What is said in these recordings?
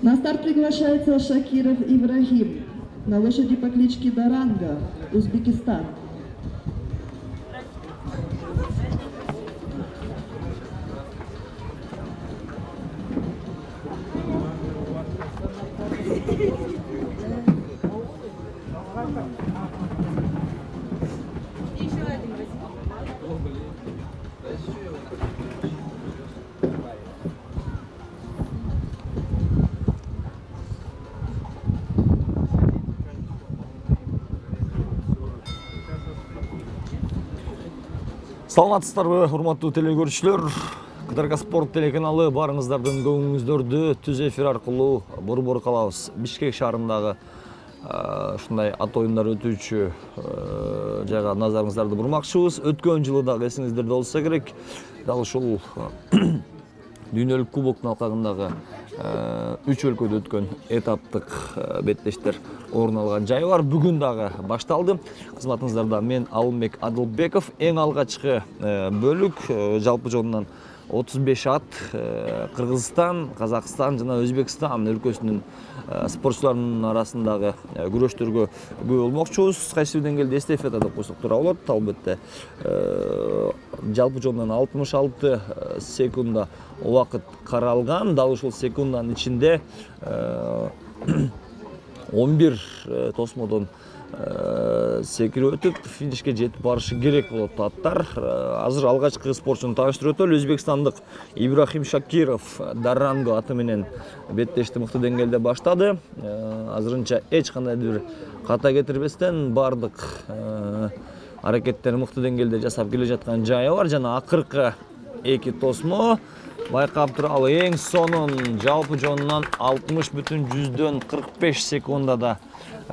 На старт приглашается Шакиров Ибрахим на лошади по кличке Даранга, Узбекистан. Саламатсыздарбы, урматтуу телекөрүүчүлөр. КТРК Спорт телеканалы барыңыздардын көңүлүңүздөрдү түз эфир аркылуу борбор калабыз. Бишкек шаарындагы ушундай ат оюндар өтүүчү жайга назарыңыздарды бурмакчыбыз. Өткөн жылы дагы эсиңиздерде болсо керек, дал ушул дүйнөлүк кубоктун алкагындагы 3 өлкөдө өткөн этаптык беттештер орун алган жай бар. Бүгүн дагы башталды. Кызматыңыздарда мен Алымбек Адылбеков. Эң алгачкы бөлүк жалпы жонунан 35 ат Кыргызстан, Казакстан жана Өзбекстан өлкөсүнүн спортчуларынын арасындагы күрөштөргө күбө болмокчубуз. Кайсы бир деңгээлде эстафета деп койсок туура болот. Албетте жалпы жонунан 66 секунда убакыт каралган. Дал ушул секунданын ичинде 11 тосмодон секирип өтүп финишке жетип барышы керек болот аттар. Азыр алгачкы спортчуну тааныштырып өтөлү. Өзбекстандык Ибрахим Шакиров Даранго аты менен беттешти мыкты деңгээлде баштады. Азырынча эч кандай бир ката кетирбестен бардык аракеттерин мыкты деңгээлде жасап келе жаткан жайы бар. Жана акыркы 2 тосмо байкап туралы эң сонун жалпы жонунан 60,45 секундада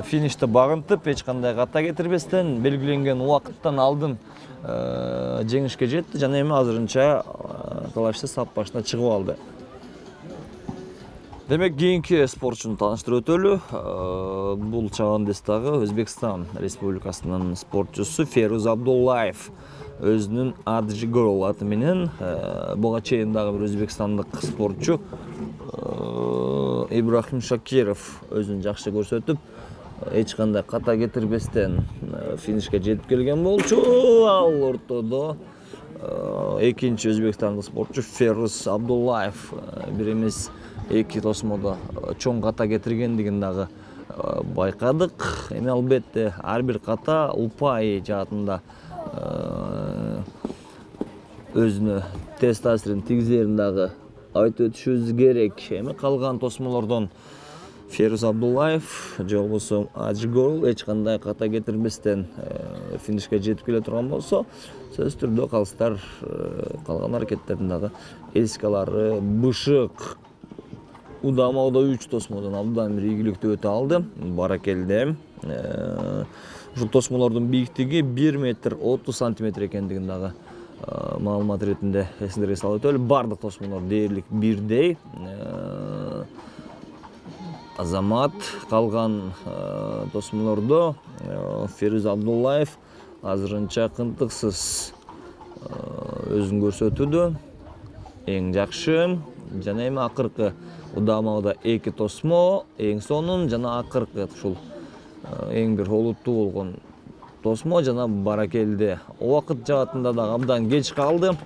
финишти багынтып, эч кандай ката кетирбестен белгиленген убакыттан алдын жеңишке жетти жана эми азырынча талашты сап башына чыгып алды. Демек, кийинки спортчуну тааныштырып өтөлү. Бул чабандестагы Өзбекстан Республикасынын спортчусу Феруз Абдуллаев. Өзүнүн Аджигол аты менен буга чейин дагы бир өзбекстандык спортчу Ибрахим Шакиров өзүн жакшы көрсөтүп, эч кандай ката кетирбестен финишке жетип келген болчу. Ал ортодо экинчи өзбекстандык спортчу Феруз Абдуллаев бир эмес 2 тосмодо чоң ката кетиргендигин дагы байкадык. Эми албетте ар бир ката упай жаатында өзүнө тез таасирин тийгизерин дагы айтып өтүшүбүз керек. Эми калган тосмолордон Феруз Абдуллаев же болбосо Аджигол эч кандай ката кетирбестен финишке жетип келе турган болсо, сөзсүз түрдө калыстар калган аракеттердин дагы эске алары бышык. Удамауда 3 тосмодон абдан бир ийгиликтүү өтө алды. Баракелде. Ушул тосмолордун бийиктиги 1 метр 30 сантиметр экендигин дагы маалымат иретинде эсиңерге салып өтөлү. Бардык тосмолор дээрлик бирдей. Азамат калган тосмолордо Феруз Абдуллаев азырынча кынтыксыз өзүн көрсөтүүдө. Эң жакшы жана эми акыркы удамауда 2 тосмо эң сонун жана акыркы ушул эң бир олуттуу болгон тосмо жана баракелде. Убакыт жаатында да абдан кеч калды.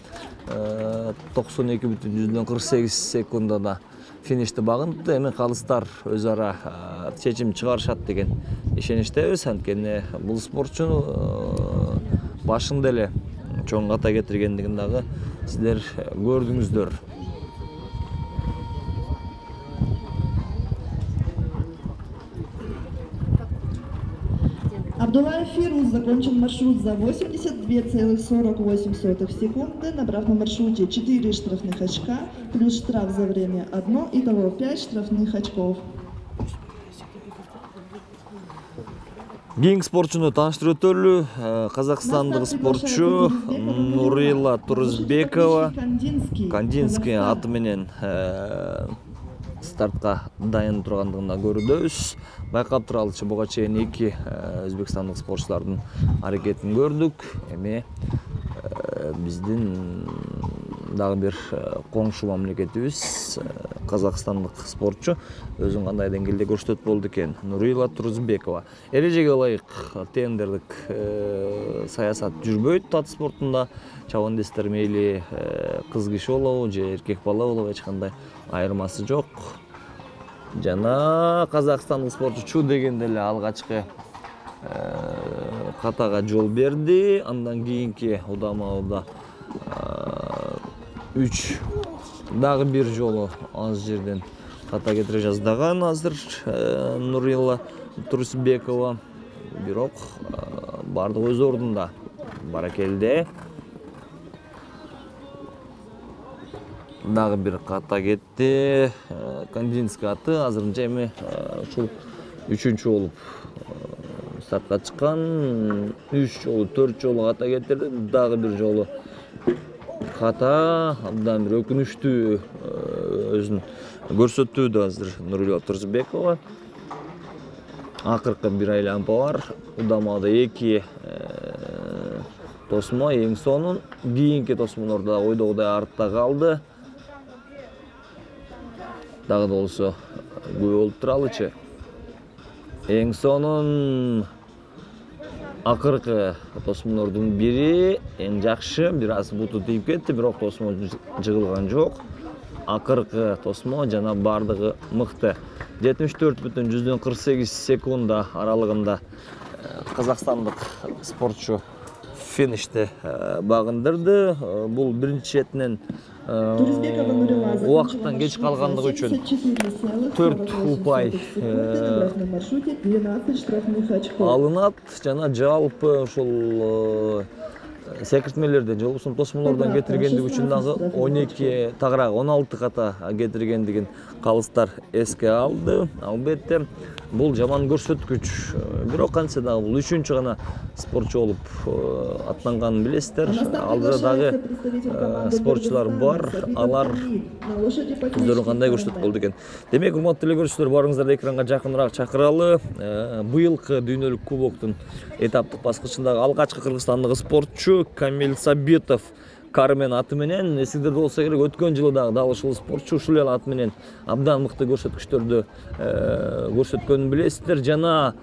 92,48 секундада финишти багынтты. Эми калыстар өз ара чечим чыгарышат деген ишеничтебиз. Анткени бул спортчу башында эле чоң ката кетиргендигин дагы сиздер көрдүңүздөр. Абдуллаев Фируз закончил маршрут за 82,48 секунды, набрав на маршруте 4 штрафных очка, плюс штраф за время 1, итого 5 штрафных очков. Кийинки спортчуну тааныштырып өтөлү. Казакстандык спортчу Нурила Турузбекова Кандинский аты менен стартка дайын тургандыгын көрдөбүз. Байкап туралычы буга чейин 2 өзбекстандык спортчулардын аракетин көрдүк. Эми биздин дагы бир коңшу мамлекетибиз казакстандык спортчу өзүн кандай деңгээлде көрсөтөт болду экен. Нурила Турузбекова. Эрежеге ылайык тендерлик саясат жүрбөйт ат спортунда. Чабандестер мейли кыз киши болобу же эркек бала болобу эч кандай айырмасы жок. Жана казакстандык спортчу дегенде эле алгачкы катага жол берди. Андан кийинки удамада 3 дагы бир жолу аз жерден ката кетире жаздаган азыр Нурила Турузбекова. Бирок бардыгы өз ордунда. Баракелде. Дагы бир ката кетти. Кандинский аты азырынча эми ушул 3-чү болуп стартка чыккан. 3 жолу 4 жолу ката кетирди. Дагы бир жолу ката, абдан бир өкүнүчтүү өзүн көрсөттү азыр Нурила Турузбекова. Акыркы бир айланпа бар. Удамада 2 тосмо эң сонун. Кийинки тосмолор да ойдогудай артта калды. Дагы да болсо күбө болуп туралычы. Эң сонун акыркы тосмолордун бири эң жакшы, бир аз буту тийип кетти, бирок тосмо жыгылган жок. Акыркы тосмо жана бардыгы мыкты. 74,48 секунда аралыгында казакстандык спортчу финишти багындырды. Бул биринчи четинен убакыттан кеч калгандыгы үчүн 4 упай алынат жана жалпы ушул секиртмелерден же болбосо тосмолордон кетиргендиги үчүн дагы 12 тагыраак 16 ката кетиргендигин калыстар эске алды. Албетте бул жаман көрсөткүч. Бирок кантсе дагы бул 3-чү гана спортчу болуп аттанганын билесиздер. Алдыда дагы спортчулар бар. Алар өздөрүн кандай көрсөтүп болду экен. Демек, урматтуу телекөрүүчүлөр, барыңыздарды экранга жакыныраак чакыралы. Быйылкы дүйнөлүк кубоктун этаптык баскычындагы алгачкы кыргызстандык спортчу Камил Сабитов Кармен аты менен, эсиңерде болсо керек, өткөн жылы дагы ушул спортчу ушул эле аты менен абдан мыкты көрсөткүчтөрдү көрсөткөнүн билесиздер. Жана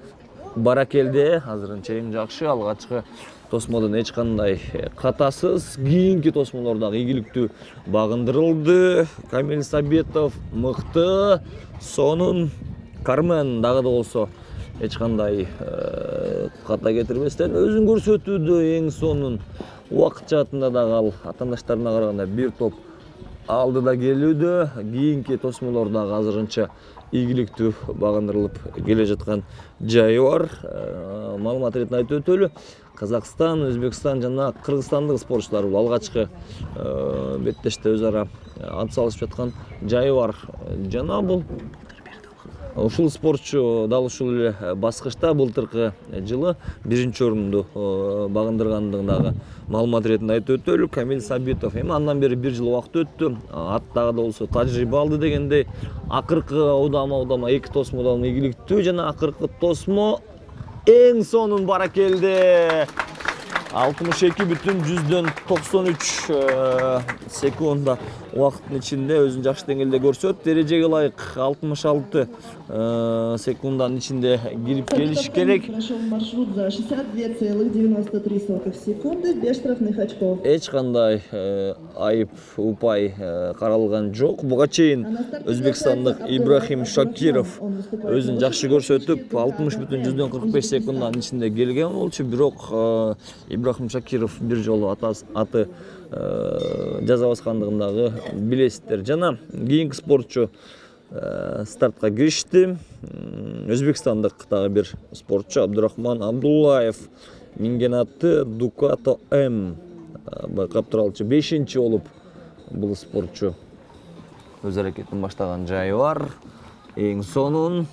баракелде азырынча эң жакшы алгачкы тосмодон эч кандай катасыз, кийинки тосмолор дагы ийгиликтүү багындырылды. Камил Сабитов мыкты, сонун. Кармен дагы да болсо эч кандай ката кетирбестен өзүн көрсөтүүдө эң сонун. Убакыт жаатында дагы ал атаандаштарына караганда бир топ алдыда келүүдө. Кийинки тосмолор дагы азырынча ийгиликтүү багындырылып келе жаткан жайы бар. Маалымат иретинде айтып өтөлү. Казакстан, Өзбекстан жана Кыргызстандык спортчулар бул алгачкы беттеште өз ара ат салышып жаткан жайы бар. Жана бул ушул спортчу дал ушул эле баскычта былтыркы жылы 1-орунду багындыргандыгын дагы маалымат иретинде айтып өтөлү. Камил Сабитов эми андан бери 1 жыл убакыт өттү. Ат дагы да болсо тажрыйба алды дегендей. Акыркы удама 2 тосмодон ийгиликтүү жана акыркы тосмо эң сонун баракелде. 62,93 секунда убакыттын ичинде өзүн жакшы деңгээлде көрсөтүп, эрежеге ылайык 66 секунданын ичинде кирип келиш керек. Прошел маршрут за 62,93 секунды, без штрафных очков. Эч кандай айып, упай каралган жок. Буга чейин өзбекстандык Ибрахим Шакиров өзүн жакшы көрсөтүп, 60,45 секунданын ичинде келген болчу. Бирок Ибрахим Шакиров бир жолу аты жаза баскандыгын дагы билесиздер. Жана кийинки спортчу стартка киришти. Өзбекстандык дагы бир спортчу Абдурахман Абдуллаев минген аты Дукато М. Байкап туралычы 5-чи болуп бул спортчу өз аракетин баштаган жайы бар. Эң сонун.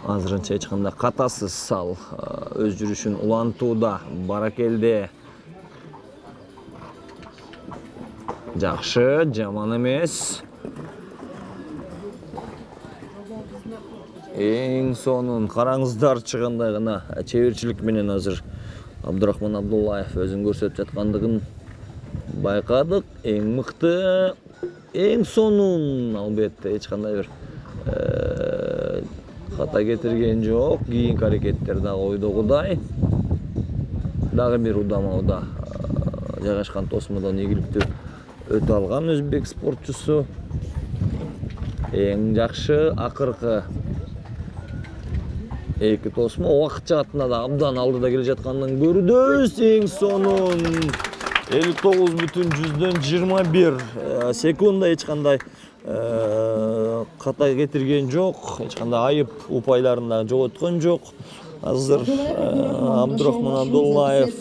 Азырынча эч кандай катасыз ал өз жүрүшүн улантууда. Баракелде. Жакшы, жаман эмес. Эң сонун. Караңыздар чыгандай гана чеберчилик менен азыр Абдурахман Абдуллаев өзүн көрсөтүп жаткандыгын байкадык. Эң мыкты эң сонун албетте эч кандай бир ката кетирген жок. Кийинки аракеттер дагы ойдогудай. Дагы бир удамада жайгашкан тосмодон ийгиликтүү өтө алган өзбек спортчусу. Эң жакшы акыркы эки тосмо убакыт жаатында да абдан алдыда келе жатканын көрүбүз. Эң сонун 59,21 секунда эч кандай ката кетирген жок, эч кандай айып упайларын да жоготкон жок. Азыр Абдурахман Абдуллаев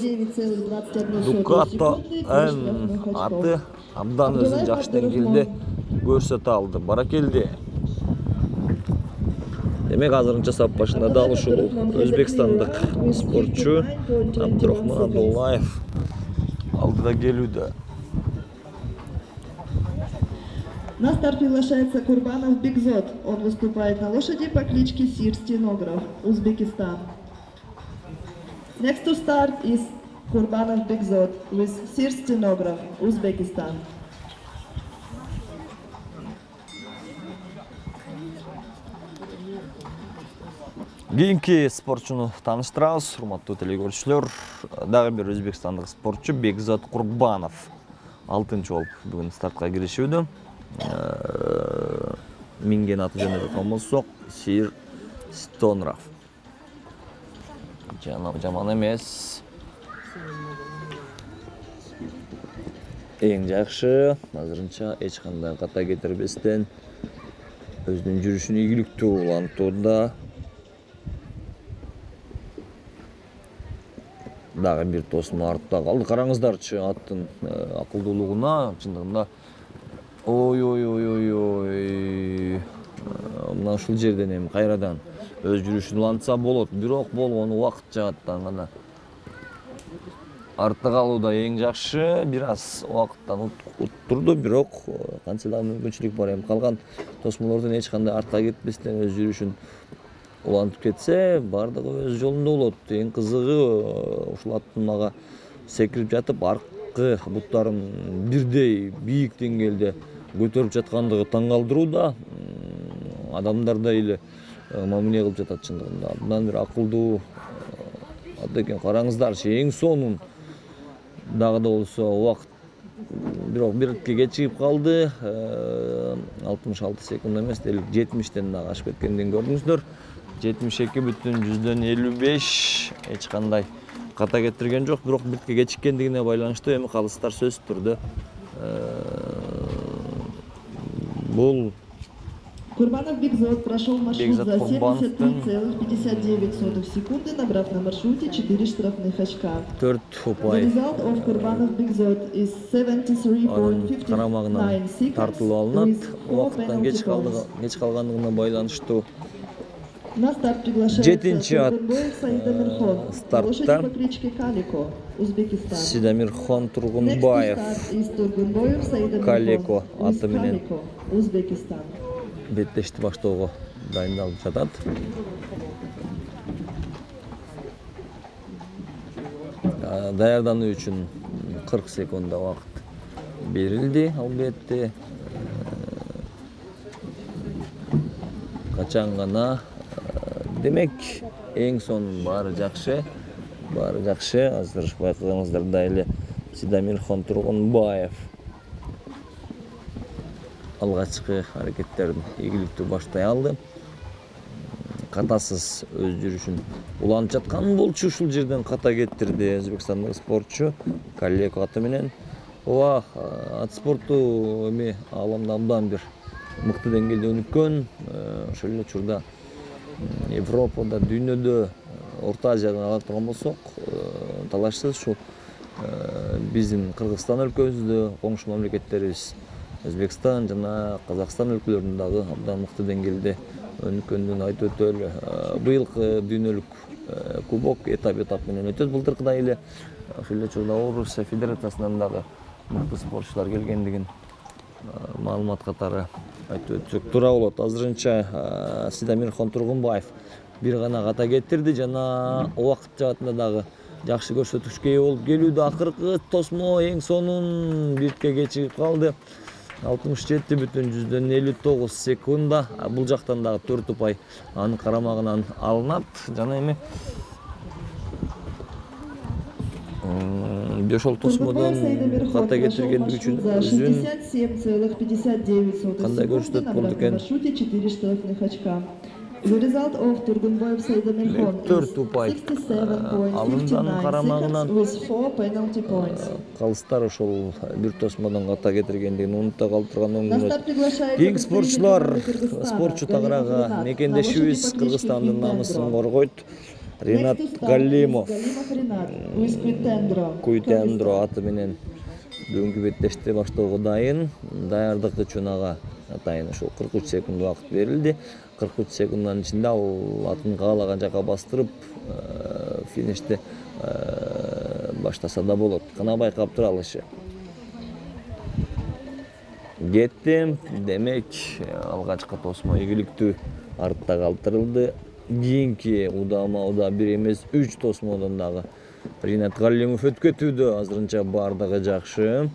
Дукато аты абдан өзүн жакшы деңгээлде көрсөтө алды. Баракелди. Демек азырынча сап башында дал ушул өзбекстандык спортчу Абдурахман Абдуллаев алдыда келүүдө. На старт приглашается Курбанов Бигзот. Он выступает на лошади по кличке Сир Стенограф, Узбекистан. Next to start is Kurbanov Bigzot with Sir Stenograph, Uzbekistan. Кийинки спортчуну тааныштырабыз, урматтуу телекөрүүчүлөр. Дагы бир өзбекстандык спортчу Бекзат Курбанов 6-чы болуп бүгүн стартка киришүүдө. Минген аты жөнүндө айткан болсок, Сир Стенограф. Жаман эмес. Эң жакшы, азырынча эч кандай ката кетирбестен өзүнүн жүрүшүн ийгиликтүү улантууда. Дагы бир тосмо артта калды. Караңыздарчы аттын акылдуулугуна, чындыгында. Ой. Мына ушул жерден эми кайрадан өз жүрүшүн улантса болот, бирок болгону убакыт жааттан гана артта калууда эң жакшы. Бир аз убакыттан уттурду, бирок канча да мүмкүнчүлүк бар. Эми калган тосмолордон эч кандай артка кетпестен өз жүрүшүн улантып кетсе, бардыгы өз жолунда болот. Эң кызыгы ушул аттын мага секирип жатып, аркы буттарын бирдей бийик деңгээлде көтөрүп жаткандыгы таң калтырууда. Адамдар да эле мамиле кылып жатат чындыгында. Абдан бир акылдуу ат экен. Караңыздарчы, эң сонун. Дагы да болсо убакыт бирок бирке кечигип калды. 66 секунд эмес, 70-тен дагы ашып кеткендин көрдүңүздөр. 72,55 эч кандай ката кетирген жок, бирок бирке кечиккендигине байланыштуу эми калыстар сөзсүз түрдө бул Курбанов Бигзот прошел маршрут за 73,59 секунды, набрав на маршруте 4 штрафных очка. 4 The упай result of Kurbanov Bigzot is 73,59 карамагынан seconds тартылып алынат. with 4 Убакыттан penalty points. кеч калгандыгына байланыштуу. На старт приглашается Жетинчи ат Тургунбоев Саид Амирхон, стартта лошади по кличке Калико, Узбекистан. Сидамирхон Next to Тургунбаев start is Тургунбоев Саид Амирхон Калико with аты менен Калико, Узбекистан. беттешти баштоого дайындалып жатат. Даярдануу үчүн 40 секунд убакыт берилди, албетте. Качан гана. Демек, эң сонун баары жакшы. Азыр байкагаңыздардай эле Сидамирхон Тургунбаев алгачкы аракеттерин ийгиликтүү баштай алды. Катасыз өз жүрүшүн улантып жаткан болчу, ушул жерден ката кетирди өзбекстандык спортчу Калико аты менен. Ат спорту эми ааламда абдан бир мыкты деңгээлде өнүккөн. Ошол эле учурда Европада, дүйнөдө, Орто Азиядан алып турган болсок, талашсыз ушул биздин Кыргызстан өлкөбүздө коңшу мамлекеттерибиз Өзбекстан жана Казакстан өлкөлөрүндө дагы абдан мыкты деңгээлде өнүккөндүгүн айтып өтөлү. Быйылкы дүйнөлүк кубок этап менен өтөт. Былтыркыдай эле ошол эле учурда Орусия Федерациясынан дагы мыкты спортчулар келгендигин маалымат катары айтып өтсөк туура болот. Азырынча Сидамирхон Тургунбаев бир гана ката кетирди жана убакыт жаатында дагы жакшы көрсөтүшкө ээ болуп келүүдө. Акыркы тосмо эң сонун бирке кечигип калды. 67,59 секунда. Бул жактан дагы 4 упай анын карамагынан алынат. Жана эми Бешол тосмодон ката кетиргендиги үчүн өзүн 67,59 кандай көрсөтөт болду экен? маршруте 4 штрафных очка. The result of Turgunboyev Saidamirkhon is 4 упай алындан карамагынан with 4 penalty points. калыстар ошол бир тосмодон ката кетиргендигин унута калтырган На оңдунат. старт приглашается Кийинки спортчулар, Кыргызстана, спортчу Галимов тагырага Ринат. мекендешибиз На лошади Кыргызстандын по кличке намысын Quintendro. коргойт. Ринат Next to start is Галимов. Галимов Ринат with Quintendro. Куйтендро аты менен бүгүнкү беттешти баштоого дайын. Даярдык үчүн ага атайын ошол 43 секунд убакыт берилди. 43 секунддун ичинде ал атын каалаган жака бастырып финишти баштаса да болот. Кана байкап туралышы. Кеттим. Демек, алгачкы тосмо ийгиликтүү артта калтырылды. Кийинки удама 1 эмес 3 тосмодон дагы Ринат Галимов өткөтүүдө. Азырынча бардыгы жакшы.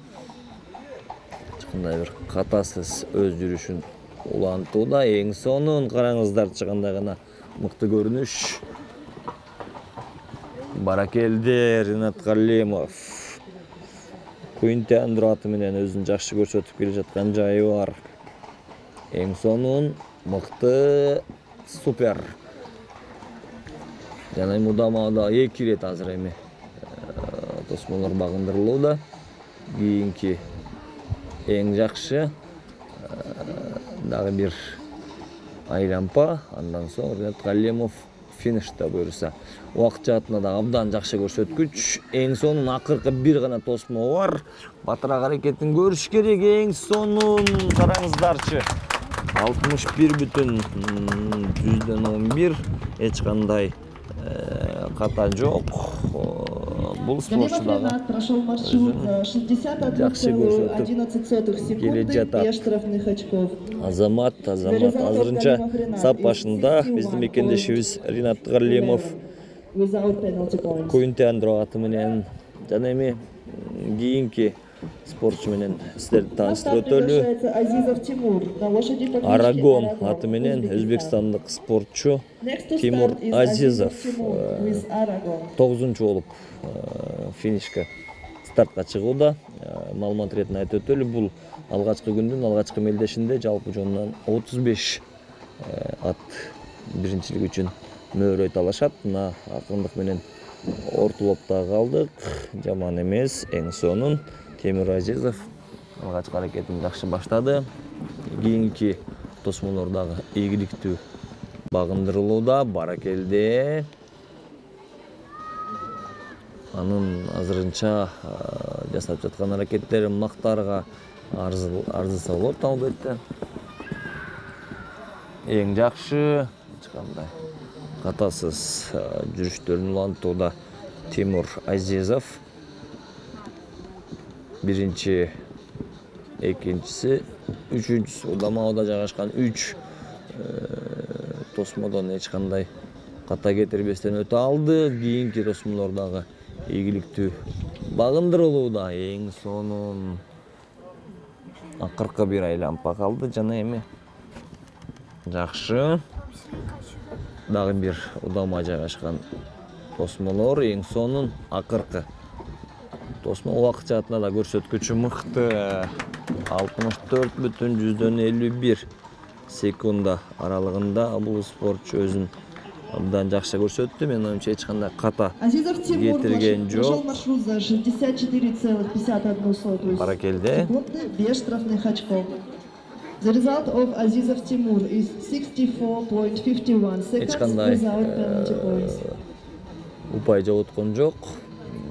Кандай бир катасыз өз жүрүшүн улантууда. Эң сонун караңыздарчы кандай гана мыкты көрүнүш. Баракелди Ринат Галимов. Quintendro аты менен өзүн жакшы көрсөтүп келе жаткан жайы бар. Эң сонун, мыкты, супер. Жана удамада 2 ирет азыр эми тосмолор багындырылууда. Кийинки эң жакшы дагы бир айлампа, андан соң Ринат Галимов финиште буюрса. Убакыт жаатында да абдан жакшы көрсөткүч. Эң сонун акыркы бир гана тосмо бар. Батыраак аракетин көрүш керек. Эң сонун караңыздарчы. 61,11 эч кандай ката жок. Бул спортчу Галимов дагы Ринат прошел маршрут за 61,11 секунды без штрафных очков. Азамат азырынча сап башында биздин мекендешибиз Ринат Галимов Without penalty points. Quintendro аты менен жана эми кийинки спортчу менен сиздерди На старт тааныштырып өтөлү. приглашается Азизов Тимур на лошади по кличке Арагон Арагон, аты менен Узбекистан. өзбекстандык спортчу Next to Тимур start is Азизов Тимур with Aragon. 9-чу болуп финишке стартка чыгууда. Маалымат иретин айтып өтөлү, бул алгачкы күндүн алгачкы мелдешинде жалпы жонунан 35 ат биринчилик үчүн мөөрөй талашат. Мына акырындык менен ортолопто калдык. Жаман эмес, эң сонун Тимур Азизов алгачкы аракетин жакшы баштады. Кийинки тосмолор дагы ийгиликтүү багындырылууда. Баракелди. Анын азырынча жасап жаткан аракеттери мактарга арзыса болот албетте. Эң жакшы эч кандай катасыз жүрүштөрүн улантууда Тимур Азизов. Биринчи, экинчиси, үчүнчүсү удамада жайгашкан 3 тосмодон эч кандай ката кетирбестен өтө алды. Кийинки тосмолор дагы ийгиликтүү багындырылууда. Эң сонун акыркы бир айлампа калды жана эми жакшы дагы бир удама жайгашкан тосмолор. Эң сонун акыркы тосмо убакыт жаатында да көрсөткүчү мыкты. 64,51 секунда аралыгында бул спортчу өзүн абдан жакшы көрсөттү. Менин оюмча эч кандай ката Азизов Тимур кетирген прошел жок. маршрут за 64,51 Баракелди. секунды без штрафных очков. The result of Azizov Timur is 64,51 Эч seconds кандай without penalty points. упай жоготкон жок.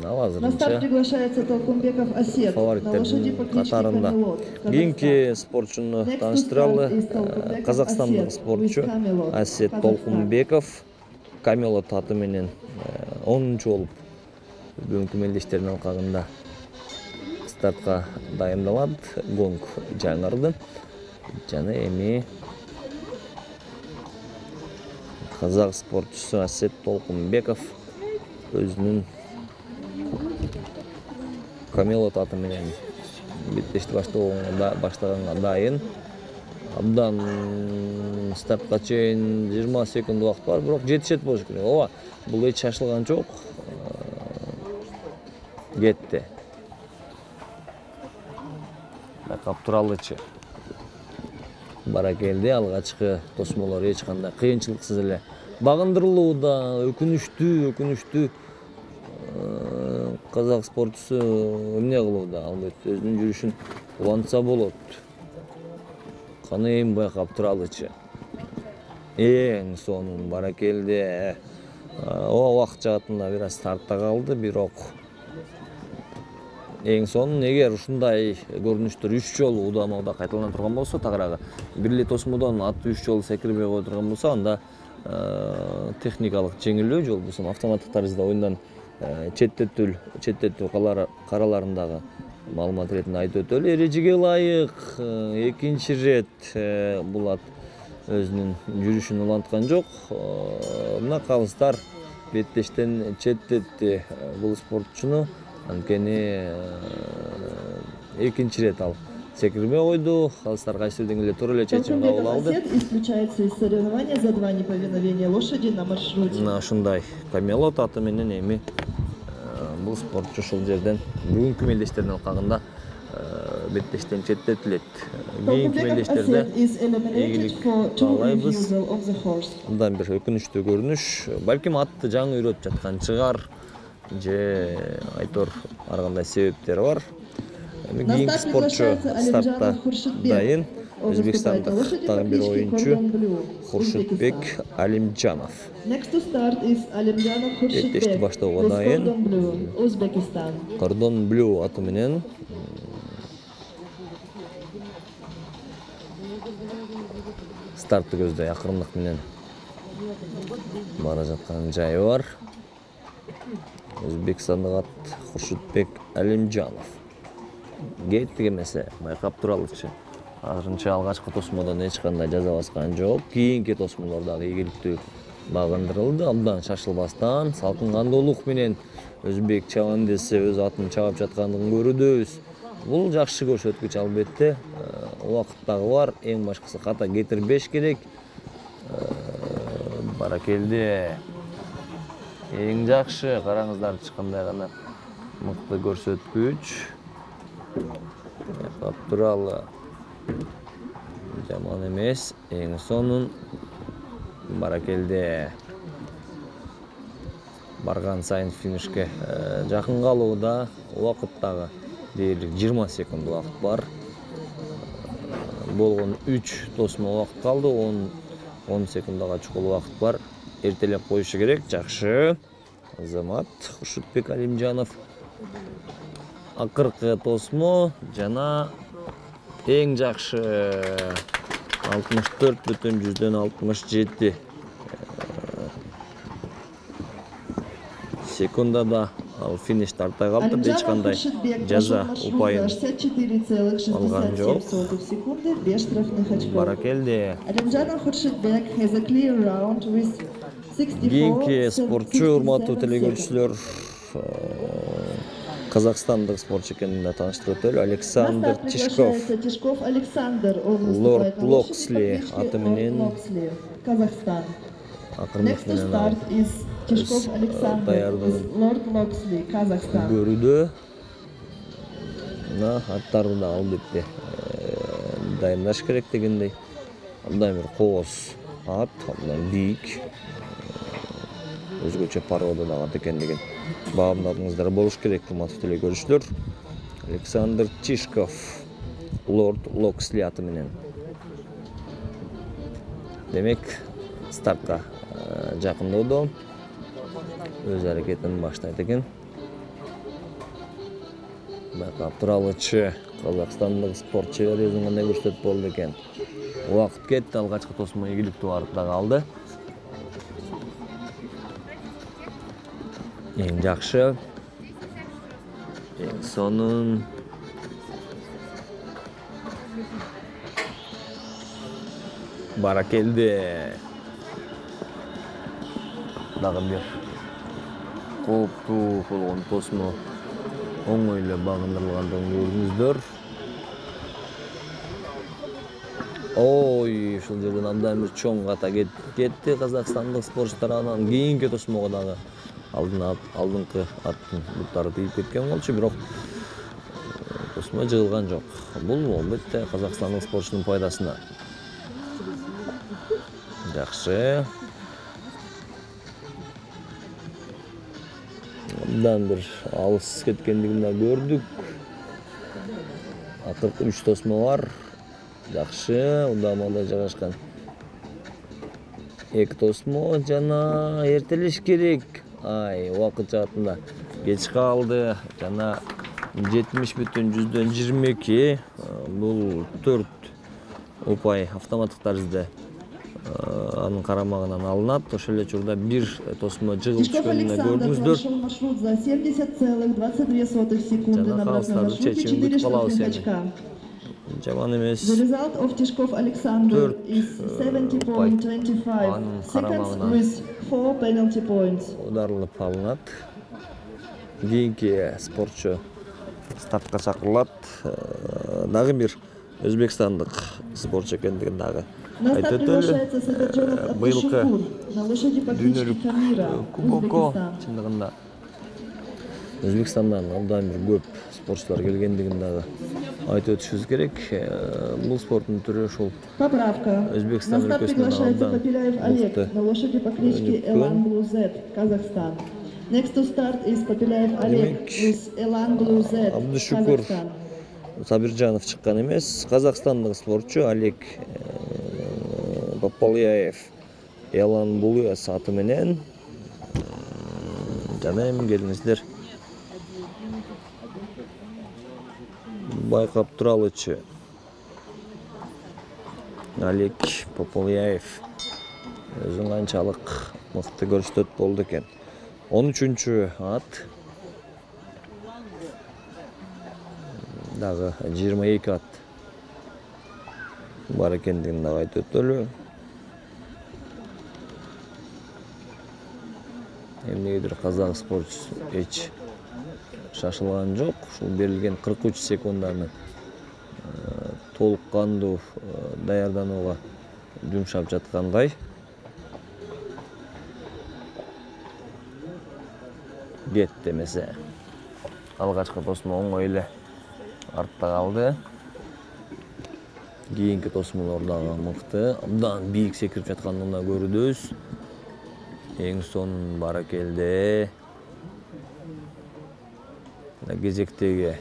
Ал На старт азырынча приглашается Толкунбеков Асет на лошади по фавориттердин кличке катарында. Камелот. Кийинки спортчуну тааныштыралы. Казакстандык спортчу Асет Толкунбеков Камелот аты менен 10-чу болуп бүгүнкү мелдештердин алкагында стартка дайындалат. Гонг жаңырды. Жана эми казак спортчусу Асет Толкунбеков өзүнүн Камелот аты менен беттешти баштаганга дайын. Абдан стартка чейин 20 секунд убакыт бар, бирок жетишет болуш керек. Ооба, бул эч шашылган жок. Кетти. Байкап туралычы. Баракелди, алгачкы тосмолор эч кандай кыйынчылыксыз эле багындырылууда. Өкүнүштүү казак спортчусу эмне кылууда? Албетте өзүнүн жүрүшүн улантса болот. Каны эми байкап туралычы. Эң сонун баракелди. Убакыт жагатында бир аз артта калды, бирок эң сонун эгер ушундай көрүнүштөр 3 жолу удама кайталана турган болсо, тагыраагы бир эле тосмодон атты 3 жолу секирбей кое турган болсо, анда техникалык жеңилөө же болбосо автоматтык тарызда оюндан четтетүү караларындагы маалымат иретинде айтып өтөлү. Эрежеге ылайык экинчи ирет Булат өзүнүн жүрүшүн уланткан жок. Мына калыстар беттештен четтетти бул спортчуну. Анткени экинчи ирет ал секирбей койду. Калыстар кайсы бир деңгээлде туура эле чечим кабыл алды. Исключается из соревнования за 2 неповиновения лошади на маршруте. Мына ушундай Камелот аты менен эми бул спортчу ушул жерден бүгүнкү мелдештердин алкагында беттештен четтетилет. Кийинки мелдештерде ийгилик каалайбыз. Мындан бир өкүнүчтүү көрүнүш. Балким атты жаңы үйрөтүп жаткан чыгар же айтор ар кандай себептери бар. Кийинки спортчу стартта дайын. Өзбекстандык дагы бир оюнчу Хуршитбек Алимжанов. Next to start is Алимжанов Хуршитбек. Беттешти баштоого дайын. Узбекистан. Кордон Блю аты менен стартты көздөй акырындык менен бара жаткан жайы бар. Өзбекстандык ат Хуршитбек Алимжанов. Кеттик эмесе, байкап туралычы. Азырынча алгачкы тосмодон эч кандай жаза баскан жок. Кийинки тосмолор дагы ийгиликтүү багындырылды. Абдан шашылбастан, салкын кандуулук менен өзбек чабам десе өз атын чабап жаткандыгын көрүүбүз. Бул жакшы көрсөткүч албетте. Убакыт дагы бар. Эң башкысы ката кетирбеш керек. Баракелди. Эң жакшы, караңыздарчы кандай гана мыкты көрсөткүч. Туралы жаман эмес, эң сонун баракелди. Барган сайын финишке жакын калууда. Убакыт дагы дээрлик 20 секунд убакыт бар. Болгон 3 тосмо убакыт калды, 10 секундага чукул убакыт бар. Эртелеп коюшу керек. Жакшы. Азамат Хуршитбек Алимжанов. Акыркы тосмо жана эң жакшы 64,67 секундада ал финиш тарта калды. Эч кандай жаза упайын алган жок. Баракелди. Кийинки спортчу, урматтуу телекөрүүчүлөр, казакстандык спортчу экенин да тааныштырып өтөлү. Александр Тишков. Лорд Локсли аты менен Казахстан. акырындык менен Тишков Александр, Lord Loxley, Казахстан. Көрүүдө мына аттарды да албетте дайындаш керек дегендей. Абдан бир кооз ат, абдан бийик. Өзгөчө порода да ат экендигин баамдадыңыздар болуш керек, урматтуу телекөрүүчүлөр. Александр Тишков, Lord Loxley аты менен. Демек, стартка жакындоодо. Өз аракетин баштайт экен. Байкап туралычы казакстандык спортчу өзүн кандай көрсөтүп болду экен. Убакыт кетти, алгачкы тосмо ийгиликтүү барып да калды. Эң жакшы, эң сонун. Баракелди. Дагы бир кооптуу болгон тосмо оңой эле багындырылгандыгын көрдүңүздөр. Ой, ушул жерден абдан бир чоң ката кетти казакстандык спортчулар. Анан кийинки тосмого дагы алдыңкы аттын буттары тийип кеткен болчу, бирок тосмо жыгылган жок. Бул албетте казакстандык спортчунун пайдасына. Жакшы. Абдан бир алыс кеткендигин да көрдүк. Акыркы 3 тосмо бар. Жакшы, удамада жайгашкан. 2 тосмо жана эртелиш керек. Ай, убакыт жаатында кеч калды. Жана 70,22. Бул 4 упай автоматтык таризде анын карамагынан алынат. Ошол эле учурда бир тосмо жыгылып түшкөнүн көрдүңүздөр. Прошел маршрут за 70,22 секунды. На обратном маршруте 4 штрафных очка. Жаман эмес. The result of Tishkov Alexander is 70.25 seconds with 4 penalty points. Ударылып алынат. Кийинки спортчу стартка чакырылат. Дагы бир өзбекстандык спортчу экендигин дагы На старт приглашается Сагаджонов Абдушукур на лошади по кличке Камира, Узбекистан. Чындыгында Өзбекстандан абдан бир көп спортчулар келгендигин дагы айтып өтүшүбүз керек. Бул спорттун түрү ушул. Поправка. Өзбекстан На старт приглашается Попеляев Олег на лошади по кличке Elan Blue Z, Казахстан. Next to start is Попеляев Олег with Elan Blue Z, Абдушукур Казахстан. Сабиржанов чыккан эмес. Казакстандык спортчу Олег Попеляев Elan Blue аты менен жана эми келиңиздер байкап туралычы. Олег Попеляев өзүн канчалык мыкты көрсөтөт болду экен. 13-чү ат. Дагы 22 ат бар экендигин дагы айтып өтөлү. Эмнегедир казак спортчусу эч шашылган жок. Ушул берилген 43 секунданы толук кандуу даярданууга жумшап жаткандай. Кет демесе. Алгачкы тосмо оңой эле артта калды. Кийинки тосмолор дагы мыкты. Абдан бийик секирип жаткандыгын да көрүбүз. Эң сонун баракелде. Кезектеги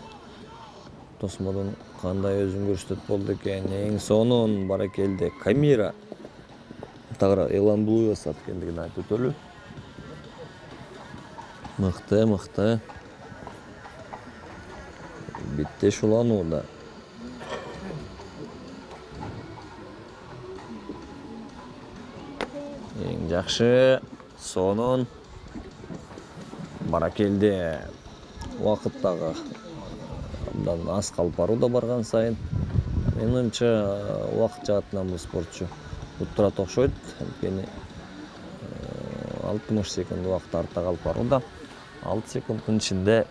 тосмодон кандай өзүн көрсөтөт болду экен. Эң сонун баракелде Камира. Тагыраак Elan Blue ат экендигин айтып өтөлү. Мыкты. Биттеш уланууда. Эң жакшы, сонун баракелде. Убакыт дагы абдан аз калып барууда барган сайын. Менин оюмча убакыт жаатынан бул спортчу уттурат окшойт. Анткени 60 секунд убакыт артта калып барууда. 6 секунддун ичинде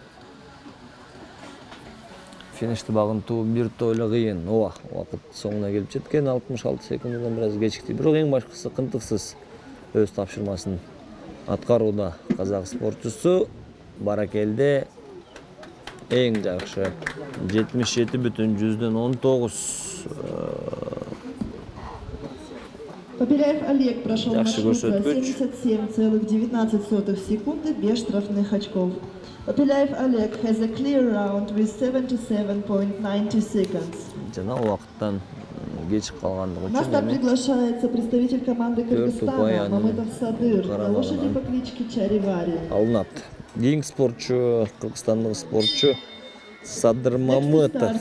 финишти багынтуу бир тойло кыйын. Убакыт соңуна келип жеткен. 66 секунддан бир аз кечикти. Бирок эң башкысы кынтыксыз өз тапшырмасын аткарууда казак спортчусу. Баракелде. Эң жакшы 77,19. Попеляев Олег прошел маршрут за 77,19 секунды без штрафных очков. Попеляев Олег has a clear round with 77.90 seconds. Жана убакыттан кеч калгандыгы На старт үчүн приглашается представитель команды Кыргызстана Мамытов Садыр на лошади по кличке Чаривари. алынат. Кийинки спортчу, кыргызстандык спортчу Садыр Мамытов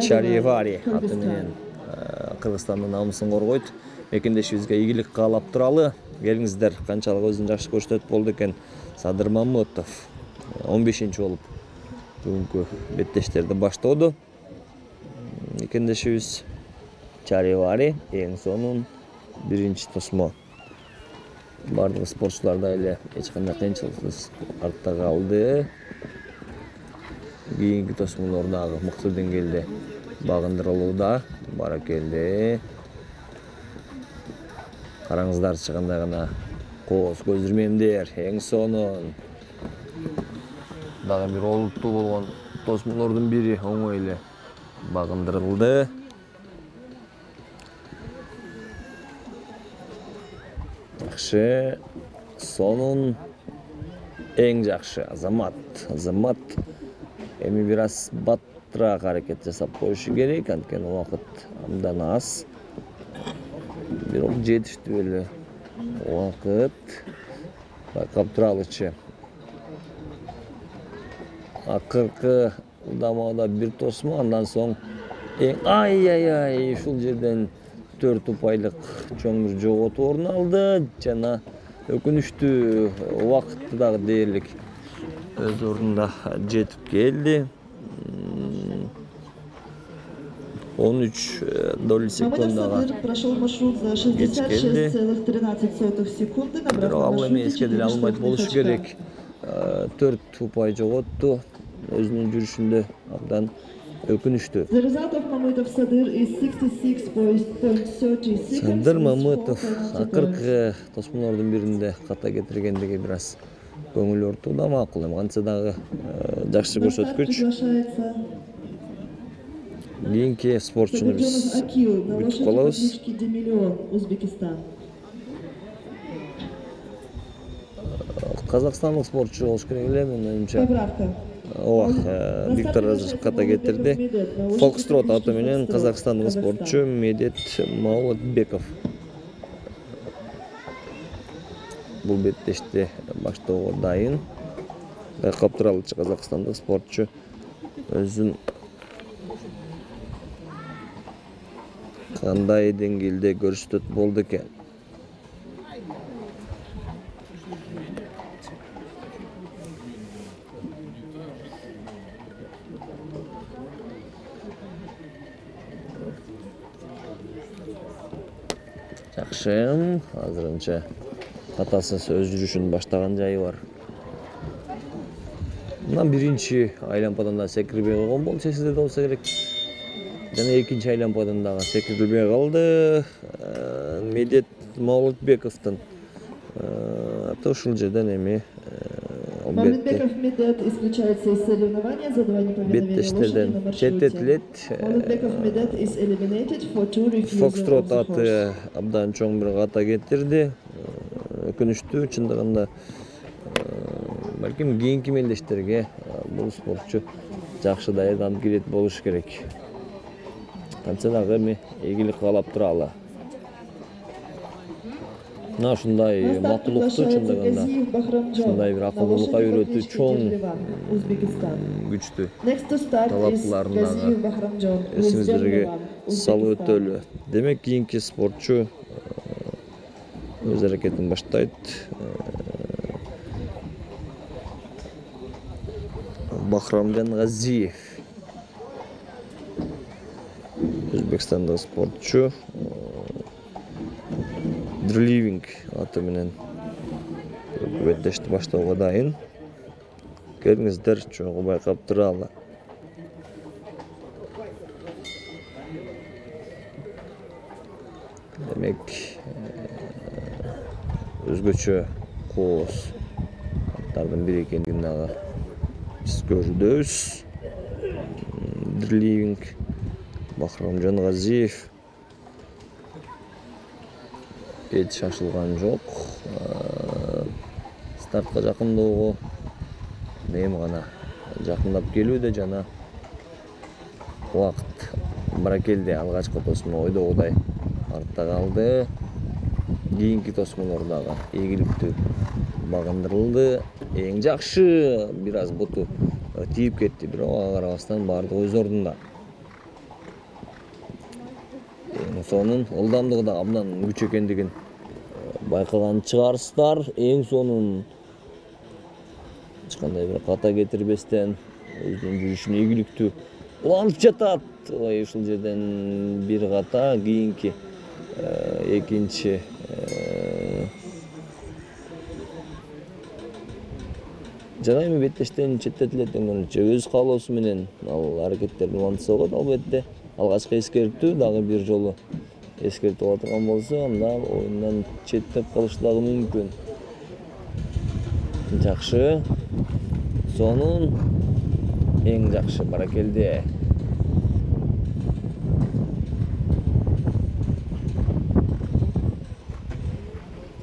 Чаривари аты менен Кыргызстандын намысын коргойт. Мекендешибизге ийгилик каалап туралы. Келиңиздер, канчалык өзүн жакшы көрсөтөт болду экен Садыр Мамытов. 15-чи болуп бүгүнкү беттештерди баштоодо. Мекендешибиз Чаривари эң сонун биринчи тосмо. Бардык спортчулар да эле эч кандай кыйынчылыксыз артта калды. Кийинки тосмолор дагы мыкты деңгээлде багындырылууда. Баракелде. Караңыздарчы кандай гана кооз көзүрмемдер. Эң сонун дагы бир олуттуу болгон тосмолордун бири оңой эле багындырылды. Жакшы, сонун, эң жакшы Азамат эми бир аз баттыраак аракет жасап коюшу керек, анткени убакыт абдан аз. Бирок жетиштүү эле убакыт. Байкап туралычы. Акыркы удамада бир тосмо, андан соң ай ушул жерден 4 упайлык чоң бир жоготуу орун алды жана өкүнүштүү убакытты дагы дээрлик өз ордунда жетип келди. 13 доли секундага прошел маршрут за 66,13 секунды. Бирок ал эми эске деле алынбайт болушу керек. 4 упай жоготту. Өзүнүн жүрүшүндө абдан өкүнүштүү. The result of Mamutov Sadir is 66.30 seconds. Садыр Мамытов акыркы тосмолордун биринде ката кетиргендиги бир аз көңүл ортууда, макул эми кантса дагы жакшы көрсөткүч. Кийинки спортчуну биз күтүп калабыз. Казакстандык спортчу болуш керек эле, менимче. Виктор Разышев ката кетирди. Фокстрот аты менен казакстандык спортчу Медет Маулатбеков бул беттешти баштоого дайын. Байкап туралычы казакстандык спортчу өзүн кандай деңгээлде көрсөтөт болду экен. Жакшы, азырынча катасыз өз жүрүшүн баштаган жайы бар. Мына биринчи айлампадан да секирбей койгон болчу, эсиде болсо керек. Жана экинчи айлампадан дагы секирилбей калды. Медет Маулатбековдун аты ушул жерден эми Маулатбеков Медет исключается из соревнования за два неповиновения лошади на маршруте. Маулатбеков Медет is eliminated for two refusal. Фокстрот аты абдан чоң бир ката кетирди. Өкүнүштүү, чындыгында балким кийинки мелдештерге бул спортчу жакшы даярданып келет болуш керек. Кантса дагы эми ийгилик каалап туралы. Мына ушундай макулукту, чындыгында ушундай бир акылдуулукка үйрөтүү чоң күчтүү талаптууларын дагы эсиңиздерге салып өтөлү. Демек кийинки спортчу өз аракетин баштайт. Бахрамжан Газиев, өзбекстандык спортчу, Дриливинг аты менен беттешти баштоого дайын. Келиңиздер, чогуу байкап туралы. Демек, өзгөчө кооз аттардын бири экендигин дагы биз көрүбүз. Дриливинг, Бахрамжан Газиев эч шашылган жок. Стартка жакындоого эми гана жакындап келүүдө жана убакыт баракелде. Алгачкы тосмо ойдогудай артта калды. Кийинки тосмолор дагы ийгиликтүү багындырылды. Эң жакшы бир аз буту тийип кетти, бирок ага карабастан баардыгы өз ордунда. Эң сонун ылдамдыгы да абдан күч экендигин байкаган чыгарсыздар. Эң сонун эч кандай бир ката кетирбестен өзүнүн жүрүшүн ийгиликтүү улантып жатат. Ой, ушул жерден бир ката, кийинки экинчи жана эми беттештен четтетилет дегенче өз каалоосу менен ал аракеттерин улантса болот албетте. алгачкы эскертүү дагы бир жолу эскертип ала турган болсо, анда оюндан четтеп калышы дагы мүмкүн. Жакшы. Сонун эң жакшы, баракелде.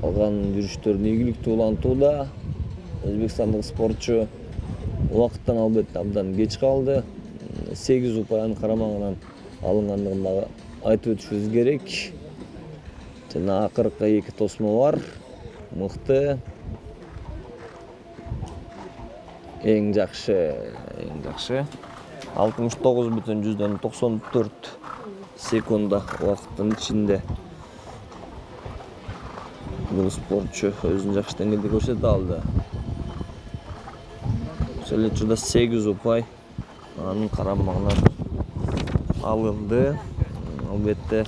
Калган жүрүштөрүн ийгиликтүү улантууда. Өзбекстандык спортчу убакыттан албетте абдан кеч калды. 8 упайнын карамагынан алынгандыгын дагы айтып өтүшүбүз керек. Жана акыркы 2 тосмо бар. Мыкты. Эң жакшы. 69,94 секунда убакыттын ичинде бул спортчу өзүн жакшы деңгээлде көрсөтө алды. Ошол эле учурда 8 упай анын карамагынан алынды. Албетте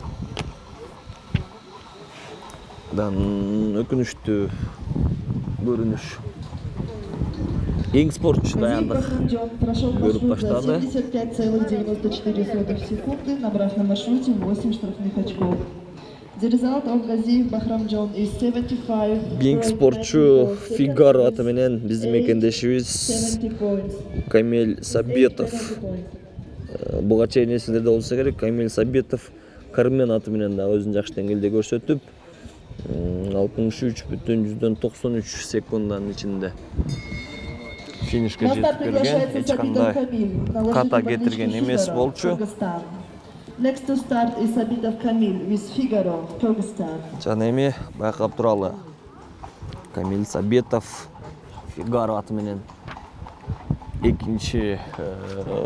өкүнүчтүү көрүнүш. Эң спортчу даяндык көрүп баштады. 75,94 секунды, набрав на маршруте 8 штрафных очков. The result of Gaziyev Bahram John is 75. Эң спортчу Фигаро аты менен биздин мекендешибиз Камиль Сабетов. Буга чейин эсиңерде болсо керек, Камиль Сабетов Кармен аты менен дагы өзүн жакшы деңгээлде көрсөтүп, 63,93 секунданын ичинде финишке жетип келген. Эч кандай ката кетирген эмес болчу. Next to start is Sabitov Kamil with Figaro, Kyrgyzstan. Жана эми байкап туралы. Камиль Сабетов Фигаро аты менен экинчи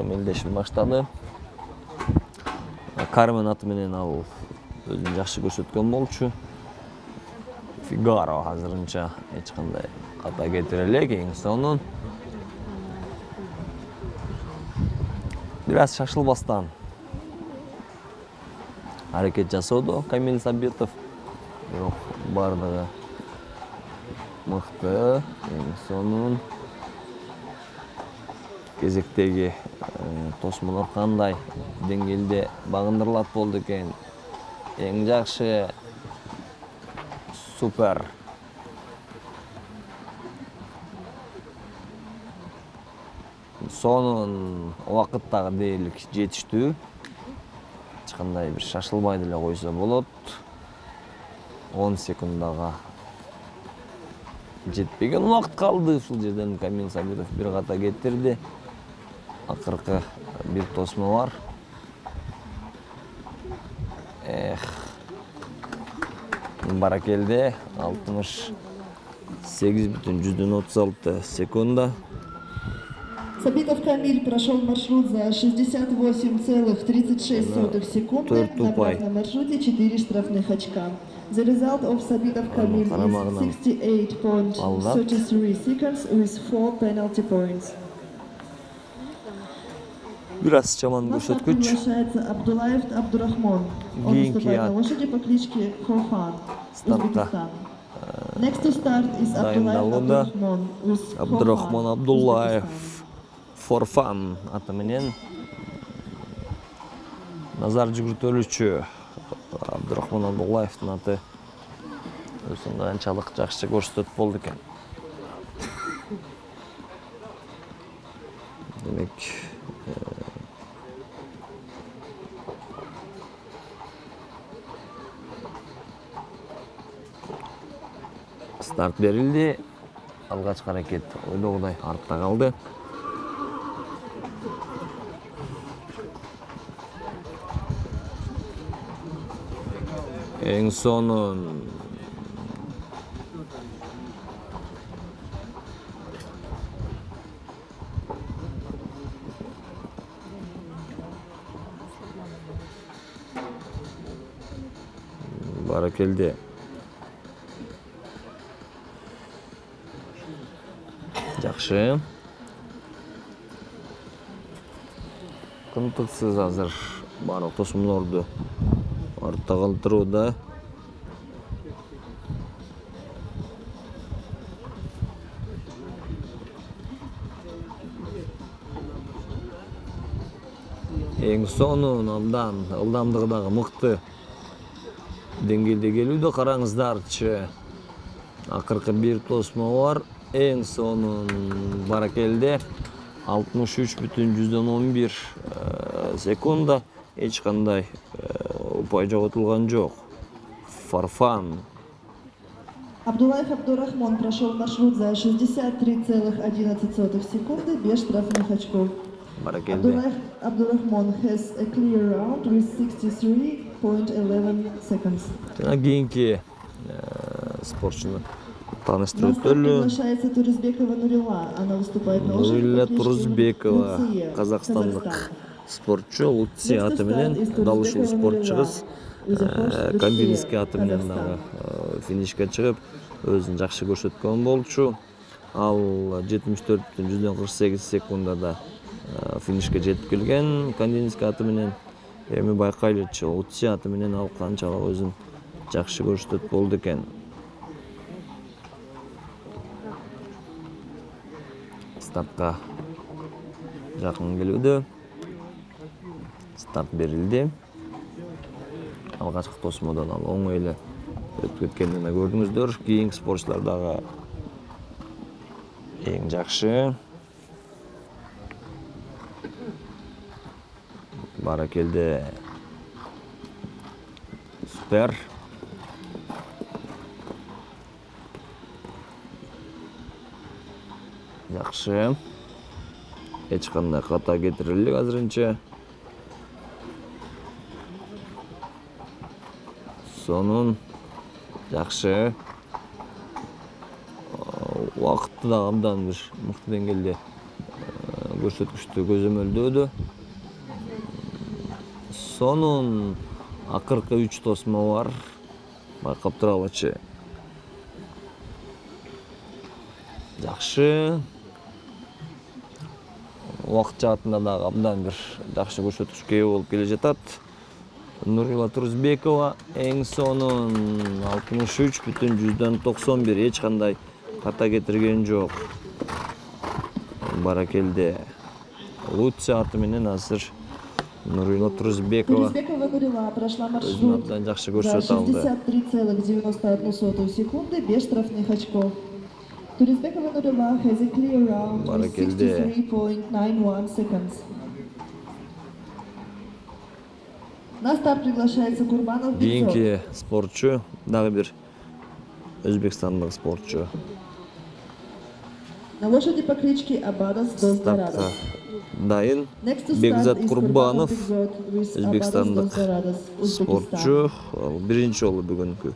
мелдешин баштады. Кармен аты менен ал өзүн жакшы көрсөткөн болчу. Фигаро азырынча эч кандай ката кетире элек. Эң сонун бир аз шашылбастан аракет жасоодо Камиль Сабетов. Бирок бардыгы мыкты, эң сонун. Кезектеги тосмолор кандай деңгээлде багындырылат болду экен. Эң жакшы, супер. Сонун убакыт дагы дээрлик жетиштүү. Эч кандай бир шашылбай деле койсо болот. 10 секундага жетпеген убакыт калды. Ушул жерден Камиль Сабетов бир ката кетирди. Акыркы бир тосмо бар. Баракелде 68,36 секунда. Сабитов Камиль прошел маршрут за 68,36 секунды, набрав на маршруте 4 штрафных очка. The result of Sabitov Kamil is 68.33 seconds with 4 penalty points. Бир аз чаман көрсөткүч. Приглашается Абдулаев Абдурахмон. Он выступает на лошади по кличке Хофан, Узбекистан. Next to start is Абдулаев Абдурахмон with Абдурахмон Абдуллаев. Форфан аты менен назар жүгүртөлүчү Абдурахмон Абдуллаевдин аты өзүн канчалык жакшы көрсөтүп болду экен. Демек старт берилди. Алгачкы аракет ойлогудай артта калды. Эң сонун баракелде. Жакшы. Кымтыксыз азыр барлык тосмолорду артта калтырууда. эң сонун абдан ылдамдыгы дагы мыкты деңгээлде келүүдө. Караңыздарчы, акыркы бир тосмо бар. Эң сонун баракелде 63,11 секунда. Эч кандай упай жоготулган жок. Фарфан. Абдуллаев Абдурахмон прошел маршрут за 63,11 секунды без штрафных очков. Баракелде. Abdurrahman has a clear round with 63.11 seconds. Жана кийинки спортчуну тааныштырып На старт өтөлү. приглашается Туризбекова Нурила. Она выступает на Нурила лошади по кличке Туризбекова, Луция, казакстандык Казахстан. спортчу. Луция аты менен, дал ушул спортчу кыз Кандинский аты менен дагы финишке чыгып, өзүн жакшы көрсөткөн болчу. Ал 74,48 секундада финишке жетип келген Кандинский аты менен. Эми байкайлычы, Луция аты менен ал канчалык өзүн жакшы көрсөтөт болду экен. Стартка жакын келүүдө. Старт берилди. Алгачкы тосмодон ал оңой эле өтүп кеткенин көрдүңүздөр. Кийинки спортчулар дагы эң жакшы. Баракелде. Супер. Жакшы. Эч кандай ката кетирилди азырынча. Сонун. Жакшы. Убакытты да абдан бир мыкты деңгээлде көрсөткүчтү көзөмөлдөөдү. Сонун акыркы 3 тосмо бар. Байкап туралычы. Жакшы. Убакыт жаатында дагы абдан бир жакшы көрсөткүчкө ээ болуп келе жатат. Нурила Туризбекова эң сонун 63,91. Эч кандай ката кетирген жок. Баракелде. Луция аты менен азыр Нурила Туризбекова Нурила прошла өзүн маршрут абдан жакшы за көрсөтө алды. 63,91 секунды без штрафных очков. Туризбекова Нурила has a clear round with Баракелде. 63.91 seconds. На старт приглашается Курбанов Бекзод. Кийинки спортчу дагы бир өзбекстандык спортчу. На лошади по кличке Абадос Дос Стартка Дорадос. дайын. Next to start Бекзат is Курбанов, Бекзод with өзбекстандык Abados Dos Dorados, Uzbekistan. спортчу. Биринчи жолу бүгүнкү